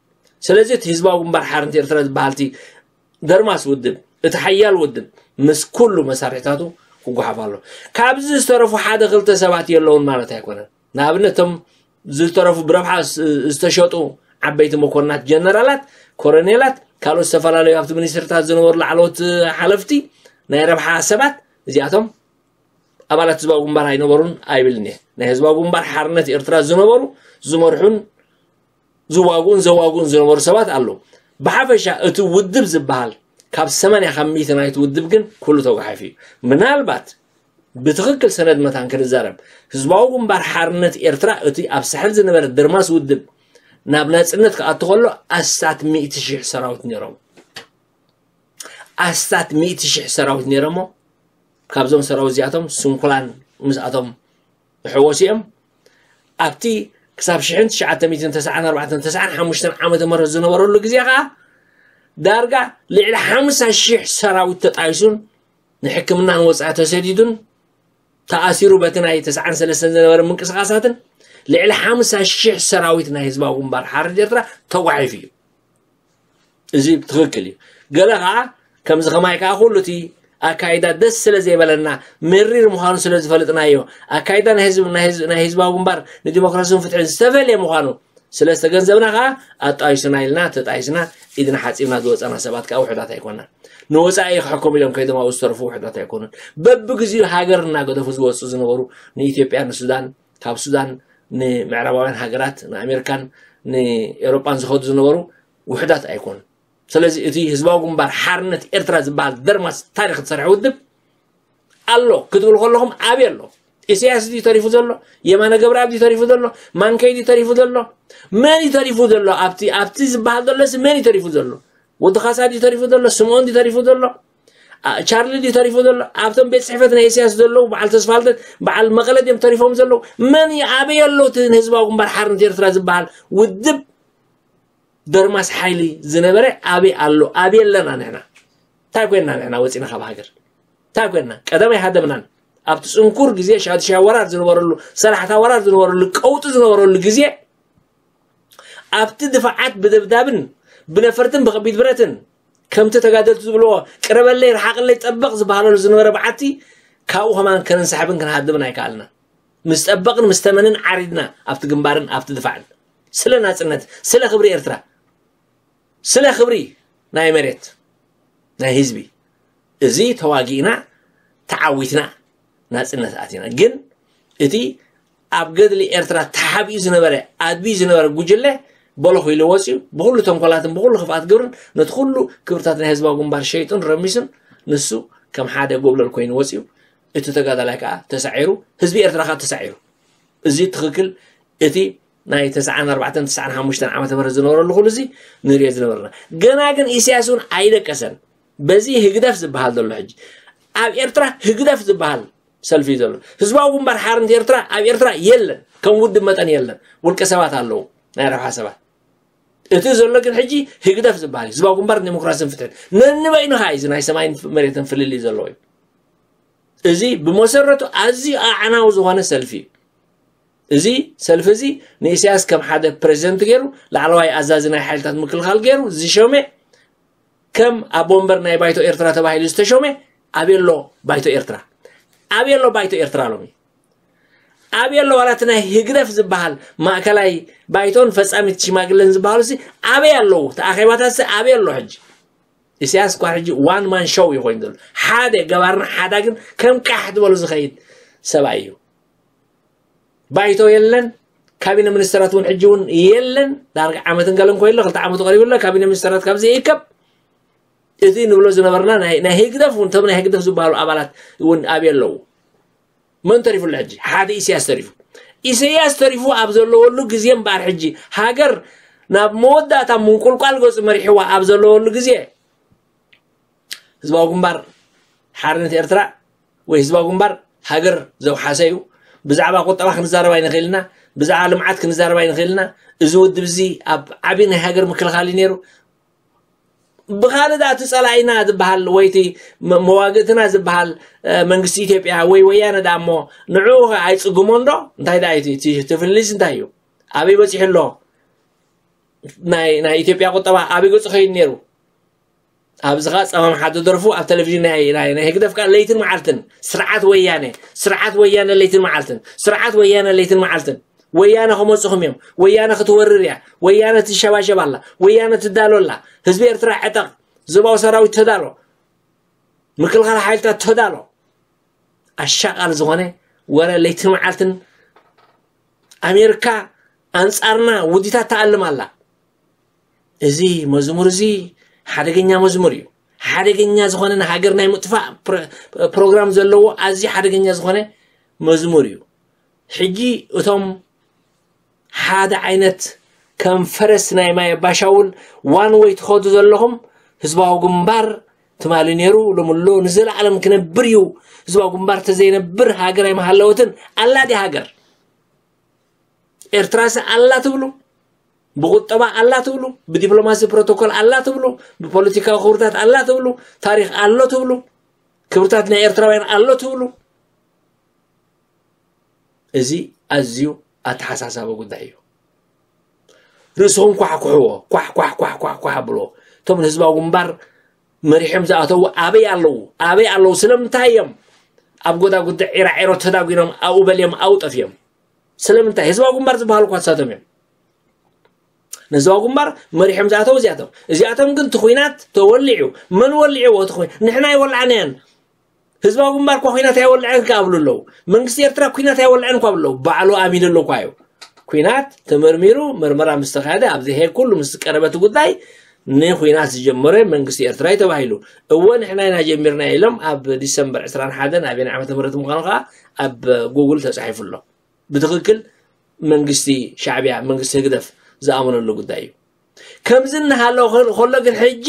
ስለዚ እቲ ህዝባዊ ግንባር ሓርነት ኤርትራ ዝበሃል እቲ ደርማስ ውድብ፣ እቲ ሓያል ውድብ ምስ ኩሉ መሳርሕታቱ ክጓሓፍ ኣሎ። ካብዚ ዝተረፉ ሓደ ክልተ ሰባት የለውን ማለት ኣይኮነን። ንኣብነት እቶም ዝተረፉ ብረብሓ ዝ-፣ ዝተሸጡ ዓበይቲ መኮንናት፣ ጀነራላት፣ ኮረኔላት፣ ካልኦት ዝተፈላለዩ ኣብቲ ሚኒስትርታት ዝነበሩ ላዕለዎት ሓለፍቲ ናይ ረብሓ ሰባት እዚኣቶም ኣባላት ህዝባዊ ግንባር ኣይነበሩን ኣይብልን እየ። ናይ ህዝባዊ ግንባር ሓርነት ኤርትራ ዝነበሩ ዝመርሑን ዝዋግኡን ዘዋግኡን ዝነበሩ ሰባት ኣለዉ። ብሓፈሻ እቲ ውድብ ዝበሃል ካብ ሰማንያ ካብ ሚእቲ ናይቲ ውድብ ግን ኩሉ ተጓሒፉ እዩ። ምናልባት ብትኽክል ሰነድ መታን ክንዛረብ ህዝባዊ ግንባር ሓርነት ኤርትራ እቲ ኣብ ሳሕል ዝነበረ ድርማስ ውድብ ናብ ናጽነት ክኣቱ ከሎ ኣስታት ሚእቲ ሽሕ ሰራዊት ነይሮም። ኣስታት ሚእቲ ሽሕ ሰራዊት ነይሮሞ ካብዞም ሰራዊት እዚኣቶም ስንኩላን ምስኣቶም ዝሕወሱ እዮም። ኣብቲ ክሳብ ሽሕን ትሽዓተ ሚእትን ተስዓን ኣርባዕተን ተስዓን ሓሙሽተን ዓመተ ምህረት ዝነበረሉ ግዜ ከኣ ዳርጋ ልዕሊ ሓምሳ ሽሕ ሰራዊት ተጣይሱን ንሕክምና ንወጻኢ ተሰዲዱን ተኣሲሩ በቲ ናይ ተስዓን ሰለስተን ዝነበረ ምንቅስቃሳትን ልዕሊ ሓምሳ ሽሕ ሰራዊት ናይ ህዝባዊ ግንባር ሓርነት ኤርትራ ተጓሒፉ እዩ። እዚ ትኽክል እዩ። ገለ ከዓ ከምዚ ከማይ ከዓ ኩሉ እቲ ኣካይዳ ደስ ስለ ዘይበለና መሪር ምዃኑ ስለ ዝፈልጥናዮ ኣካይዳ ናይ ህዝብ ናይ ህዝብ ናይ ህዝባዊ ግንባር ንዲሞክራሲን ፍትሕን ዝተፈልየ ምዃኑ ስለ ዝተገንዘብና ከዓ ኣጣይሱና ኢልና ተጣይስና ኢድና ሓፂብና ዝወፃና ሰባት ከዓ ውሕዳት ኣይኮናን። ንወፃኢ ክሕከሙ ኢሎም ከይዶም ኣብኡ ዝተረፉ ውሕዳት ኣይኮኑን። በብግዚኡ ሃገር እናገደፉ ዝወፁ ዝነበሩ ንኢትዮጵያ ንሱዳን ካብ ሱዳን ንምዕራባውያን ሃገራት ንኣሜሪካን ንኤውሮጳን ዝኸዱ ዝነበሩ ውሕዳት ኣይኮኑን። ስለዚ እቲ ህዝባዊ ግንባር ሓርነት ኤርትራ ዝበሃል ደርማስ ታሪክ ዝሰርሐ ውድብ ኣሎ ክትብል ከለኹም ኣበይ ኣሎ? ኢሳያስ ድዩ ተሪፉ ዘሎ? የማነ ገብረኣብ ድዩ ተሪፉ ዘሎ? ማንከይ ድዩ ተሪፉ ዘሎ? መን እዩ ተሪፉ ዘሎ? ኣብቲ ኣብቲ ዝበሃል ዘሎሲ መን እዩ ተሪፉ ዘሎ? ወዲ ካሳ ድዩ ተሪፉ ዘሎ? ስምኦን ድዩ ተሪፉ ዘሎ? ቻርሊ ድዩ ተሪፉ ዘሎ? ኣብቶም ቤት ፅሕፈት ናይ ኢሳያስ ዘለዉ በዓል ተስፋልደት በዓል መቐለ ድዮም ተሪፎም ዘለዉ? መን እዩ ኣበይ ኣሎ እቲ ንህዝባዊ ግንባር ሓርነት ኤርትራ ዝበሃል ውድብ ደርማስ ሓይሊ ዝነበረ ኣበይ ኣሎ? ኣበይ ኣለና ንሕና? እንታይ ኮይንና ንሕና ወፂና ካብ ሃገር? እንታይ ኮይንና? ቀደም ኣይሃደምናን። ኣብቲ ፅንኩር ግዜ ሻድሻይ ወራር ዝነበረሉ ሰላሕታ ወራር ዝነበረሉ ቀውጢ ዝነበረሉ ግዜ ኣብቲ ድፋዓት ብደብዳብን ብነፈርትን ብኸቢድ ብረትን ከምቲ ተጋደልቲ ዝብልዎ ቅረበለይ ርሓቕለይ ጠበቕ ዝበሃለሉ ዝነበረ በዓቲ ካብኡ ከማን ከነንሳሕብን ክንሃድምን ኣይከኣልና። ምስ ጠበቕን ምስ ተመንን ዓሪድና ኣብቲ ግንባርን ኣብቲ ድፋዕን ስለ ናፅነት ስለ ክብሪ ኤርትራ ስለ ክብሪ ናይ መሬት ናይ ህዝቢ እዚ ተዋጊእና ተዓዊትና ናፅነት ኣቲና። ግን እቲ ኣብ ገድሊ ኤርትራ ተሓቢኡ ዝነበረ ኣድብዩ ዝነበረ ጉጅለ በለኹ ኢሉ ወፅዩ ብኩሉ ተንኮላትን ብኩሉ ክፍኣት ግብርን ነቲ ኩሉ ክብርታት ናይ ህዝባዊ ግንባር ሸይጡን ረሚሱን ንሱ ከም ሓደ ጎብለል ኮይኑ ወፅዩ እቲ ተጋዳላይ ከዓ ተሳዒሩ ህዝቢ ኤርትራ ከዓ ተሳዒሩ እዚ ትኽክል እቲ ናይ ተስዓን ኣርባዕተን ተስዓን ሓሙሽተን ዓመተ ምህረት ዝነበረሉ ኩሉ እዚ ንሪኦ ዝነበርና። ገና ግን ኢሳያስ እውን ኣይደቀሰን። በዚ ህግደፍ ዝበሃል ዘሎ ሕጂ ኣብ ኤርትራ ህግደፍ ዝበሃል ሰልፊ እዩ ዘሎ። ህዝባዊ ግንባር ሓርነት ኤርትራ ኣብ ኤርትራ የለን። ከም ውድብ መጠን የለን። ውልቀ ሰባት ኣለዉ፣ ናይ ረብሓ ሰባት። እቲ ዘሎ ግን ሕጂ ህግደፍ ዝበሃል እዩ። ህዝባዊ ግንባር ዴሞክራሲን ፍትሕን ነንበይኑ ኸዓ እዩ። እዚ ናይ ሰማይን መሬትን ፍልልይ ዘለዎ እዩ። እዚ ብመሰረቱ ኣዝዩ ኣዕናዊ ዝኾነ ሰልፊ እዩ። እዚ ሰልፊ እዚ ንኢሳያስ ከም ሓደ ፕሬዚደንት ገይሩ፣ ላዕለዋይ ኣዛዚ ናይ ሓይልታት ምክልኻል ገይሩ ዝሾመ፣ ከም ኣቦ ወንበር ናይ ባይቶ ኤርትራ ተባሂሉ ዝተሾመ ኣበይ ኣሎ ባይቶ ኤርትራ? ኣበይ ኣሎ ባይቶ ኤርትራ ሎሚ? ኣበይ ኣሎ ዋላ እቲ ናይ ህግደፍ ዝበሃል ማእከላይ ባይቶን ፈጻሚት ሽማግለን ዝበሃሉ ሲ ኣበይ ኣለዉ? እቲ ኣኼባታት ሲ ኣበይ ኣሎ ሕጂ? ኢሳያስ እኳ ሕጂ ዋን ማን ሾው እዩ ኮይኑ ዘሎ። ሓደ ገባርን ሓዳግን ከም ቃሕ ዝበሉ ዝኸይድ ሰብኣይ እዩ። ባይቶ የለን፣ ካቢነ ሚኒስተራት እውን ሕጂ እውን የለን። ዳርጋ ዓመትን ገለን ኮይሎ፣ ክልተ ዓመቱ ቀሪቡ ኣሎ። ካቢነ ሚኒስተራት ካብዚ ይእከብ። እቲ ንብሎ ዝነበርና ናይ ናይ ህግደፍ እውን፣ እቶም ናይ ህግደፍ ዝበሃሉ ኣባላት እውን ኣበይ ኣለዉ? መን ተሪፉ ኣሎ ሕጂ? ሓደ ኢሳያስ ተሪፉ። ኢሳያስ ተሪፉ ኣብ ዘለወሉ ግዜ እምበኣር ሕጂ ሃገር ናብ መወዳእታ ምንቁልቋል ገጹ መሪሕዋ ኣብ ዘለወሉ ግዜ ህዝባዊ ግንባር ሓርነት ኤርትራ ወይ ህዝባዊ ግንባር ሃገር ዘውሓሰ እዩ። ብዛዕባ ቁጠባ ክንዛረብ ኣይንኽእል ኢና፣ ብዛዕባ ልምዓት ክንዛረብ ኣይንኽእል ኢና። እዚ ውድብ እዚ ኣብ ዓቢ ናይ ሃገር ምክልኻል እዩ ነይሩ። ብኻልእ ደኣ እቲ ጸላኢና ዝበሃል ወይ እቲ መ-፣ መዋግእትና ዝበሃል፣ እ፣ መንግስቲ ኢትዮጵያ ወይ ወያነ ደኣ እሞ ንዕኡ ኸ ኣይጽግሞን ዶ? እንታይ ደኣ እዩ እቲ፣ እቲ፣ እቲ ፍልልይስ እንታይ እዩ? ኣበይ በጺሑ ኣሎ? ናይ፣ ናይ ኢትዮጵያ ቁጠባ ኣበይ ገጹ ኸይዱ ነይሩ? ኣብዚ ኸኣ ጸማም ሓደ ደርፉ ኣብ ቴሌቪዥን ናይ፣ ናይ፣ ናይ ህግደፍ ከኣ ለይትን መዓልትን ስርዓት ወያነ፣ ስርዓት ወያነ ለይትን መዓልትን፣ ስርዓት ወያነ ለይትን መዓልትን። ወያነ ክመጹኹም እዮም። ወያነ ክትወርር እያ። ወያነ ትሸባሸብ ኣላ። ወያነ ትዳሎ ኣላ። ህዝቢ ኤርትራ ዕጠቕ። ዞባዊ ሰራዊት ተዳሎ። ምክልኻል ሓይልታት ተዳሎ። ኣሻቓል ዝኾነ ወረ ለይትን መዓልትን ኣሜሪካ ኣንጻርና ውዲታት ትኣልም ኣላ። እዚ መዝሙር እዚ ሓደገኛ መዝሙር እዩ። ሓደገኛ ዝኾነ ንሃገር ናይ ምጥፋእ ፕሮ-፣ ፕሮግራም ዘለዎ ኣዝዩ ሓደገኛ ዝኾነ መዝሙር እዩ። ሕጂ እቶም ሓደ ዓይነት ከም ፈረስ ናይ ማይ ኣባሻውል ዋን ወይ ትኸዱ ዘለኹም፣ ህዝባዊ ግንባር ትማሊ ነይሩ፣ ሎሚ ኣሎ፣ ንዘለኣለም ክነብር እዩ። ህዝባዊ ግንባር ተዘይነብር ሃገር ኣይምሃለወትን። ኣላ ድያ ሃገር? ኤርትራስ ኣላ ትብሉ? ብቁጠባ ኣላ ትብሉ? ብዲፕሎማሲ ፕሮቶኮል ኣላ ትብሉ? ብፖለቲካዊ ክብርታት ኣላ ትብሉ? ታሪኽ ኣሎ ትብሉ? ክብርታት ናይ ኤርትራውያን ኣሎ ትብሉ? እዚ ኣዝዩ ኣተሓሳሳቢ ጉዳይ እዩ። ርእስኹም ኳሕኩሕዎ፣ ኳሕ፣ ኳሕ፣ ኳሕ፣ ኳሕ፣ ኳሕ ኣብልዎ። እቶም ንህዝባዊ ግንባር መሪሖም ዝኣተዉ ኣበይ ኣለዉ? ኣበይ ኣለዉ? ስለምንታይ እዮም ኣብ ጎዳጉዲ ዒራዒሮ ተዳጒኖም ኣብኡ በልዮም ኣብኡ ጠፍዮም? ስለምንታይ? ህዝባዊ ግንባር ዝበሃሉ እኳ ንሳቶም እዮም። ንህዝባዊ ግንባር መሪሖም ዝኣተዉ እዚኣቶም። እዚኣቶም ግን እቲ ኹናት ተወሊዑ። መን ወሊዕዎ እቲ ኹናት? ንሕና ኣይወላዕናዮን። ህዝባዊ ግንባር እኳ ኲናት ኣይወልዐን ክኣብሉ ኣለዉ። መንግስቲ ኤርትራ ኲናት ኣይወልዐን እኳ ብለዉ። ባዕሉ ኣሚኑ ኣሎ እኳ እዩ። ኲናት ተመርሚሩ፣ መርመራ ምስ ተኻየደ፣ ኣብዚ ሄግ ኩሉ ምስ ቀረበ እቲ ጉዳይ፣ ንኲናት ዝጀመረ መንግስቲ ኤርትራ እዩ ተባሂሉ። እወ፣ ንሕና ኢና ጀሚርና ኢሎም ኣብ ዲሰምበር ዕስራን ሓደን ኣበየናይ ዓመተ ምህረት ምዃኑ ከኣ ኣብ ጉግል ተጻሒፉ ኣሎ። ብትኽክል መንግስቲ ሻዕብያ፣ መንግስቲ ህግደፍ ዝኣመነሉ ጉዳይ እዩ። ከምዚ እናሃለወ ከሎ ግን ሕጂ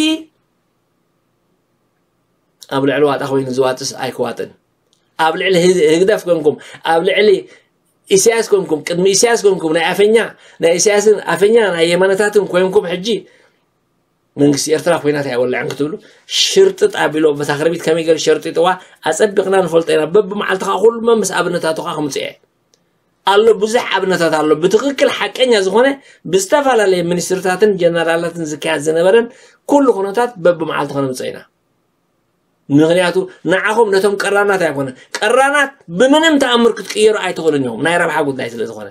ኣብ ልዕሊ ዋጣ ኮይኑ ዝዋጥስ ኣይክዋጥን። ኣብ ልዕሊ ህዝ-፣ ህግደፍ ኮንኩም፣ ኣብ ልዕሊ ኢሳያስ ኮንኩም፣ ቅድሚ ኢሳያስ ኮንኩም፣ ናይ ኣፈኛ፣ ናይ ኢሳያስን ኣፈኛ ናይ የማነታትን ኮንኩም፣ ሕጂ መንግስቲ ኤርትራ ኲናት ኣይወልዕን ክትብሉ ሽርጥጥ ኣቢሉ በታ ክርቢት ከመይ ገይሩ ሸርጢጥዋ ኣጸቢቕና ንፈልጦ ኢና። በብመዓልቲ ከኣ ኩሉ መምስ ኣብነታቱ ከኣ ክምጽእ እየ። ኣሎ፣ ብዙሕ ኣብነታት ኣሎ። ብትኽክል ሓቀኛ ዝኾነ ብዝተፈላለየ ሚኒስትርታትን ጀነራላትን ዝካየድ ዝነበረን ኩሉ ኩነታት በብመዓልቲ ከነምጽኦ ኢና። ምኽንያቱ ንዓኹም ነቶም ቀራናት ኣይኮነ። ቀራናት ብምንም ተኣምር ክትቅየሩ ኣይትኽእሉን ኢኹም። ናይ ረብሓ ጉዳይ ስለ ዝኾነ።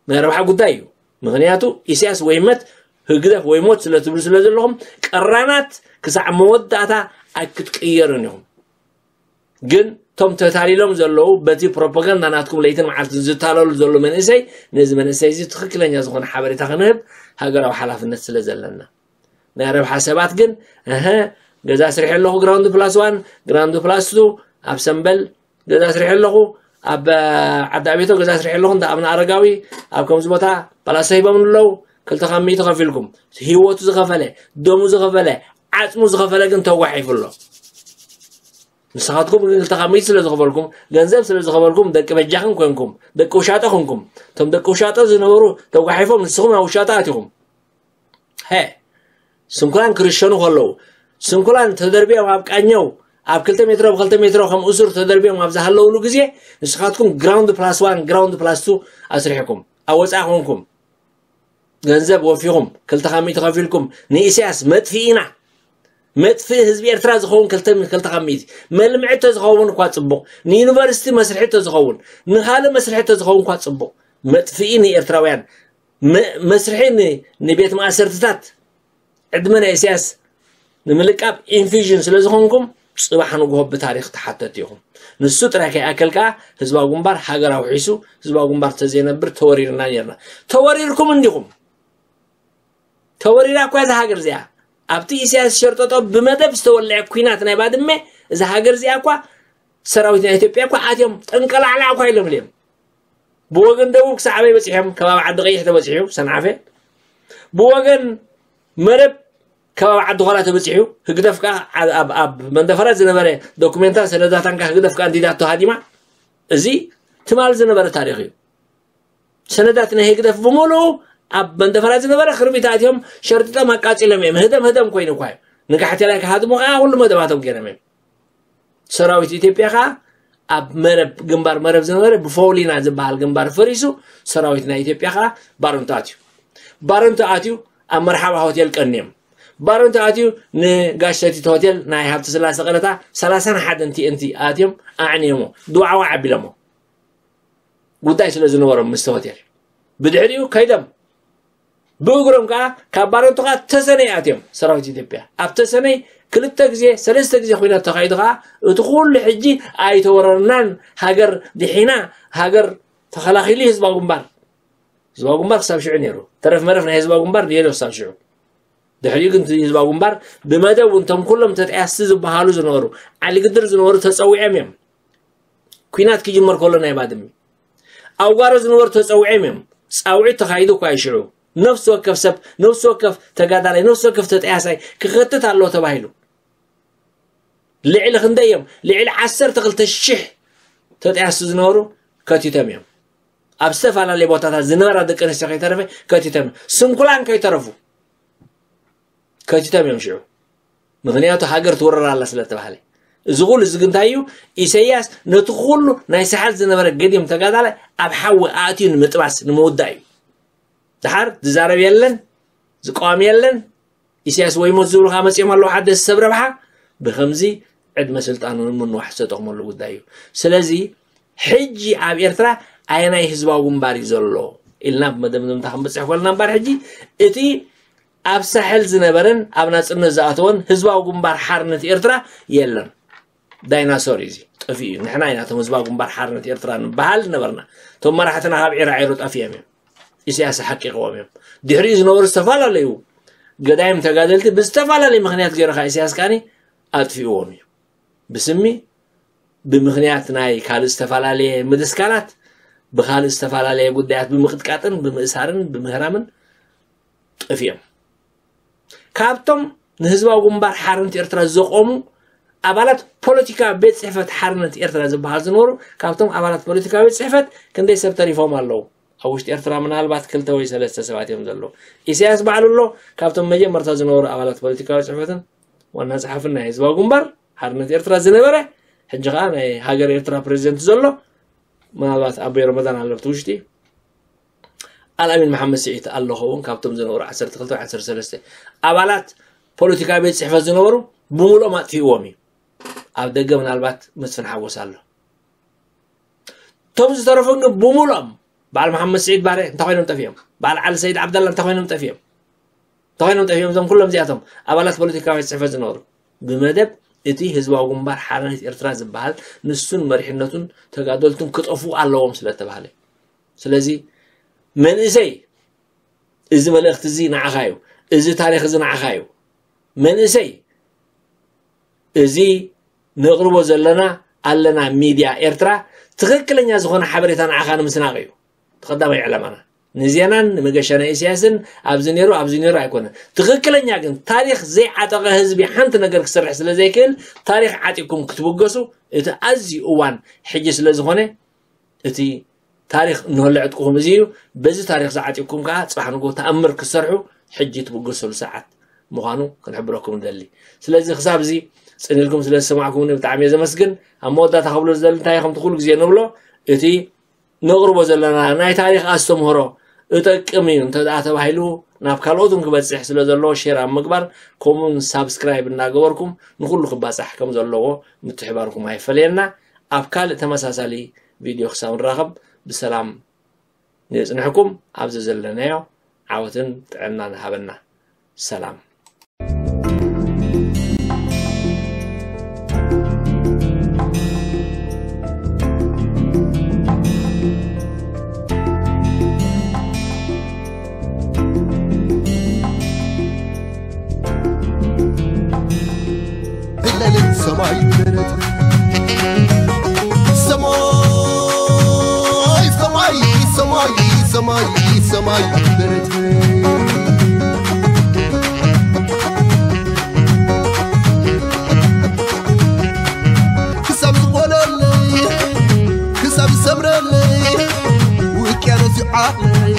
ናይ ረብሓ ጉዳይ እዩ። ምኽንያቱ ኢሳያስ ወይ መት፣ ህግደፍ ወይ ሞት ስለ ትብሉ ስለ ዘለኹም ቀራናት ክሳዕ መወዳእታ ኣይክትቅየሩን ኢኹም። ግን እቶም ተታሊሎም ዘለዉ በቲ ፕሮፓጋንዳ ናትኩም ለይትን መዓልትን ዝታለሉ ዘለዉ መንእሰይ፣ ነዚ መንእሰይ እዚ ትኽክለኛ ዝኾነ ሓበሬታ ክንህብ ሃገራዊ ሓላፍነት ስለ ዘለና። ናይ ረብሓ ሰባት ግን፣ እህ፣ ገዛ ስርሒ ኣለኹ፣ ግራውንድ ፕላስ ዋን፣ ግራውንድ ፕላስ ቱ፣ ኣብ ሰምበል ገዛ ስርሒ ኣለኹ፣ ኣብ ዓዲ ኣቤቶ ገዛ ስርሒ ኣለኹ እንዳ ኣብነ ኣረጋዊ ኣብ ከምዚ ቦታ ፓላሳ ሂቦም ኣለዉ። ክልተ ካብ ሚእቲ ከፊልኩም፣ ህይወቱ ዝኸፈለ፣ ደሙ ዝኸፈለ፣ ዓፅሙ ዝኸፈለ ግን ተጓሒፉ ኣሎ። ንስኻትኩም ግን ክልተ ካብ ሚእቲ ስለ ዝኸፈልኩም፣ ገንዘብ ስለ ዝኸፈልኩም፣ ደቂ በጃኽን ኮንኩም፣ ደቂ ውሻጠ ኮንኩም። እቶም ደቂ ውሻጠ ዝነበሩ ተጓሒፎም፣ ንስኹም ናብ ውሻጠ ኣቲኹም። ሀ ስንኩላን ክርሸኑ ከለዉ፣ ስንኩላን ተደርቢዮም ኣብ ቃኘው ኣብ ክልተ ሜትሮ ብ ክልተ ሜትሮ ከም እሱር ተደርቢዮም ኣብ ዝሃለውሉ ግዜ፣ ንስኻትኩም ግራውንድ ፕላስ ዋን፣ ግራውንድ ፕላስ ቱ ኣስሪሕኩም ኣብ ወፃኢ ኮንኩም፣ ገንዘብ ወፊኹም፣ ክልተ ካብ ሚእቲ ከፊልኩም፣ ንኢሳያስ መጥፍኢና፣ መጥፍኢ ህዝቢ ኤርትራ ዝኸውን ክልተ፣ ክልተ ካብ ሚእቲ፣ መልምዒ ተዝኸውን እኳ ጽቡቕ፣ ንዩኒቨርሲቲ መስርሒ ተዝኸውን፣ ንኻልእ መስርሒ ተዝኸውን እኳ ጽቡቕ፣ መጥፍኢ ንኤርትራውያን፣ መ-፣ መስርሒ ን-፣ ንቤት ማእሰርትታት፣ ዕድመ ናይ ኢሳያስ ንምልቃብ ኢንፊዥን ስለ ዝኾንኩም፣ ጽባሕ ንግሆ ብታሪኽ ተሓተቲ ኢኹም። ንሱ ጥራይ ከይኣክል ከኣ፣ ህዝባዊ ግንባር ሃገር ኣውሒሱ፣ ህዝባዊ ግንባር ተዘይነብር ተወሪርና ኔርና። ተወሪርኩም እንዲኹም። ተወሪራ እኳ እዛ ሃገር እዚኣ። ኣብቲ ኢሳያስ ሸርጠጦ ብመደብ ዝተወልዐ ኲናት ናይ ባድመ፣ እዛ ሃገር እዚኣ እኳ ሰራዊት ናይ ኢትዮጵያ እኳ ኣትዮም ጠንቀላዕላዕ እኳ ኢሎም እዮም። ብወገን ደቡብ ክሳዕ ኣበይ በጺሖም? ከባቢ ዓዲ ቀይሕ ተበጺሑ፣ ሰንዓፈ። ብወገን መረብ ከባቢ ዓዲ ኾላ ተበጺሑ፣ ህግደፍ ከኣ ኣብ፣ ኣብ፣ ኣብ መንደፈራ ዝነበረ ዶኩሜንታን ሰነዳታን ከኣ ህግደፍ ከኣ እንዲዳቶ ሃዲማ። እዚ ትማል ዝነበረ ታሪኽ እዩ። ሰነዳት ናይ ህግደፍ ብምሉኡ ኣብ መንደፈራ ዝነበረ ክርቢት ኣትዮም ሸርጢጦም ኣቃጺሎም እዮም። ህደም ህደም ኮይኑ እኳ እዩ። ንጋሕቴላይ ክሃድሙ ከኣ ኩሉ መደባቶም ገይሮም እዮም። ሰራዊት ኢትዮጵያ ከኣ ኣብ መረብ፣ ግንባር መረብ ዝነበረ ብፎውሊና ዝበሃል ግንባር ፈሪሱ፣ ሰራዊት ናይ ኢትዮጵያ ከኣ ባረንቱ ኣትዩ። ባረንቱ ኣትዩ ኣብ መርሓባ ሆቴል ቀንዮም። ባረንቱ ኣትዩ ንጋሽ ሰቲት ሆቴል ናይ ሃብተ ስላሴ ቀረታ ሰላሳን ሓደን ቲ ኤን ቲ ኣትዮም ኣዕንዮሞ፣ ድዋዕዋዕ ኣቢሎሞ። ጉዳይ ስለ ዝነበሮም ምስቲ ሆቴል። ብድሕሪኡ ከይዶም ብእግሮም ከኣ ካብ ባረንቱ ከኣ ተሰነይ ኣትዮም ሰራዊት ኢትዮጵያ። ኣብ ተሰነይ ክልተ ግዜ፣ ሰለስተ ግዜ ኲናት ተኻይዱ ከኣ እቲ ኩሉ ሕጂ ኣይተወረርናን፣ ሃገር ድሒና፣ ሃገር ተኸላኺሉ ህዝባዊ ግንባር። ህዝባዊ ግንባር ክሳብ ሽዑ ነይሩ። ተረፍ መረፍ ናይ ህዝባዊ ግንባር ነይሩ ክሳብ ሽዑ። ድሕሪኡ ግን እቲ ህዝባዊ ግንባር ብመደብ እውን እቶም ኩሎም ተጠያስቲ ዝበሃሉ ዝነበሩ፣ ዓሊ ግድር ዝነበሩ ተጸዊዖም እዮም። ኲናት ክጅመር ከሎ ናይ ባድመ። ኣብ ጓሮ ዝነበሩ ተጸዊዖም እዮም። ጻውዒት ተኻይዱ እኳ እዩ ሽዑ። ነፍሲ ወከፍ ሰብ፣ ነፍሲ ወከፍ ተጋዳላይ፣ ነፍሲ ወከፍ ተጠያሳይ ክኸትት ኣለዎ ተባሂሉ። ልዕሊ ክንደይ እዮም? ልዕሊ ዓሰርተ ክልተ ሽሕ ተጠያስቲ ዝነበሩ ከቲቶም እዮም። ኣብ ዝተፈላለየ ቦታታት ዝነበራ ደቂ ኣንስትዮ ከይተረፈ ከቲቶም እዮም። ስንኩላን ከይተረፉ ከቲቶም እዮም ሽዑ። ምኽንያቱ ሃገር ትወረር ኣላ ስለ ተባህለ። እዚ ኩሉ እዚ ግን እንታይ እዩ? ኢሳያስ ነቲ ኩሉ ናይ ሳሕል ዝነበረ ገዲም ተጋዳላይ ኣብ ሓዊ ኣእትዩ ንምጥባስ፣ ንምውዳእ እዩ። ደሓር ዝዛረብ የለን፣ ዝቃወም የለን። ኢሳያስ ወይ ሞት ዝብሉ ከዓ መጺኦም ኣለዉ፣ ሓደ ሰብ ረብሓ። ብኸምዚ ዕድመ ስልጣኑ ንምንዋሕ ዝተጠቕመሉ ጉዳይ እዩ። ስለዚ ሕጂ ኣብ ኤርትራ ኣየናይ ህዝባዊ ግንባር እዩ ዘሎ ኢልና ብመደምደምታ ክንበጽሕ ከለና እምበር፣ ሕጂ እቲ ኣብ ሳሕል ዝነበረን ኣብ ናጽነት ዝኣተወን ህዝባዊ ግንባር ሓርነት ኤርትራ የለን። ዳይናሶር እዩ እዚ፣ ጠፊኡ እዩ። ንሕና ኢና እቶም ህዝባዊ ግንባር ሓርነት ኤርትራ ንበሃል ነበርና። እቶም መራሕትና ካብ ዒራዒሮ ጠፊኦም እዮም። ኢሳያስ ሓቂቕዎም እዮም። ድሕሪኡ ዝነበሩ ዝተፈላለዩ ገዳይም ተጋደልቲ ብዝተፈላለየ ምኽንያት ገይሩ ኸዓ ኢሳያስ ከዓኒ ኣጥፊእዎም እዩ። ብስሚ፣ ብምኽንያት ናይ ካልእ ዝተፈላለየ ምድስካላት፣ ብኻልእ ዝተፈላለየ ጉዳያት ብምቕጥቃጥን ብምእሳርን ብምህራምን ጠፊኦም። ካብቶም ንህዝባዊ ግንባር ሓርነት ኤርትራ ዘቆሙ ኣባላት ፖለቲካዊ ቤት ጽሕፈት ሓርነት ኤርትራ ዝበሃል ዝነበሩ፣ ካብቶም ኣባላት ፖለቲካዊ ቤት ጽሕፈት ክንደይ ሰብ ተሪፎም ኣለዉ? ኣብ ውሽጢ ኤርትራ ምናልባት ክልተ ወይ ሰለስተ ሰባት እዮም ዘለዉ። ኢሳያስ ባዕሉ ኣሎ፣ ካብቶም መጀመርታ ዝነበሩ ኣባላት ፖለቲካዊ ጽሕፈትን ዋና ጸሓፍን ናይ ህዝባዊ ግንባር ሓርነት ኤርትራ ዝነበረ፣ ሕጂ ኸኣ ናይ ሃገር ኤርትራ ፕሬዚደንት ዘሎ፣ ምናልባት ኣቦይ ረመዳን ኣሎ ኣብቲ ውሽጢ፣ ኣልኣሚን መሓመድ ስዒድ ኣሎ ኸውን፣ ካብቶም ዝነበሩ ዓሰርተ ክልተ ወይ ዓሰርተ ሰለስተ ኣባላት ፖለቲካዊ ቤት ጽሕፈት ዝነበሩ ብምሉኦም ኣጥፊእዎም እዩ። ኣብ ደገ ምናልባት መስፍን ሓጎስ ኣሎ። እቶም ዝተረፉ ግን ብምሉኦም፣ በዓል መሓመድ ስዒድ ባሬ እንታይ ኮይኖም ጠፊኦም? በዓል ዓሊ ሰይድ ዓብደላ እንታይ ኮይኖም ጠፊኦም? እንታይ ኮይኖም ጠፊኦም? እዞም ኩሎም እዚኣቶም ኣባላት ፖለቲካዊ ቤት ጽሕፈት ዝነበሩ፣ ብመደብ እቲ ህዝባዊ ግንባር ሓርነት ኤርትራ ዝበሃል ንሱን መሪሕነቱን ተጋደልቱን ክጠፍኡ ኣለዎም ስለ ተባህለ። ስለዚ መንእሰይ፣ እዚ መልእኽቲ እዚ ንዓኻ እዩ። እዚ ታሪኽ እዚ ንዓኻ እዩ። መንእሰይ፣ እዚ ነቕርቦ ዘለና ኣለና ሚድያ ኤርትራ፣ ትኽክለኛ ዝኾነ ሓበሬታ ንዓኻ ንምስናቕ እዩ እቲ ቀዳማይ ዕላማና። ንዜናን ንመገሻ ናይ ኢሳያስን ኣብዚ ነይሩ ኣብዚ ነይሩ ኣይኮነን። ትኽክለኛ ግን ታሪኽ ዘይዓጠቐ ህዝቢ ሓንቲ ነገር ክሰርሕ ስለ ዘይክእል፣ ታሪኽ ዓጢቕኩም ክትብገሱ እቲ ኣዝዩ እዋን ሕጂ ስለ ዝኾነ፣ እቲ ታሪኽ እንሆሎ ዕጥቅኹም እዚ እዩ። በዚ ታሪኽ ዝዓጢቕኩም ከዓ ጽባሕ ንግሆ ተኣምር ክትሰርሑ ሕጂ ትብገሰሉ ሰዓት ምዃኑ ክንሕብረኩም ንደሊ። ስለዚ ክሳብ እዚ ጽን ኢልኩም ስለ ዝሰማዕኩምኒ ብጣዕሚ እየ ዘመስግን። ኣብ መወዳእታ ክብሎ ዝደሊ እንታይ ከምቲ ኩሉ ግዜ ንብሎ፣ እቲ ነቕርቦ ዘለና ናይ ታሪኽ ኣስተምህሮ እጠቅም እዩ እንተ ደኣ ተባሂሉ ናብ ካልኦት እውን ክበጽሕ ስለ ዘለዎ ሼር ኣብ ምግባር ከምኡውን ሳብስክራይብ እናገበርኩም ንኹሉ ክባጻሕ ከም ዘለዎ ምትሕባርኩም ኣይፈለየና። ኣብ ካልእ ተመሳሳሊ ቪድዮ ክሳብ ንራኸብ ብሰላም ንጽንሕኩም። ኣብዚ ዘለናዮ ዓወትን ጥዕናን ሃበና። ሰላም። ብለልን ሰማይ ደረት ሰማይ ሰማይ ሰማይ ሰማይ ሰማይ ደረት ክሳብ ዝቆለለይ ክሳብ ዝሰምረለይ ውቅያኖስ ይዓለይ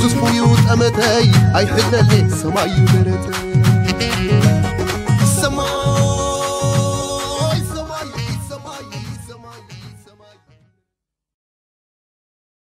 ትስፉዩ ጠመተይ ኣይሕለለይ ሰማይ ደረት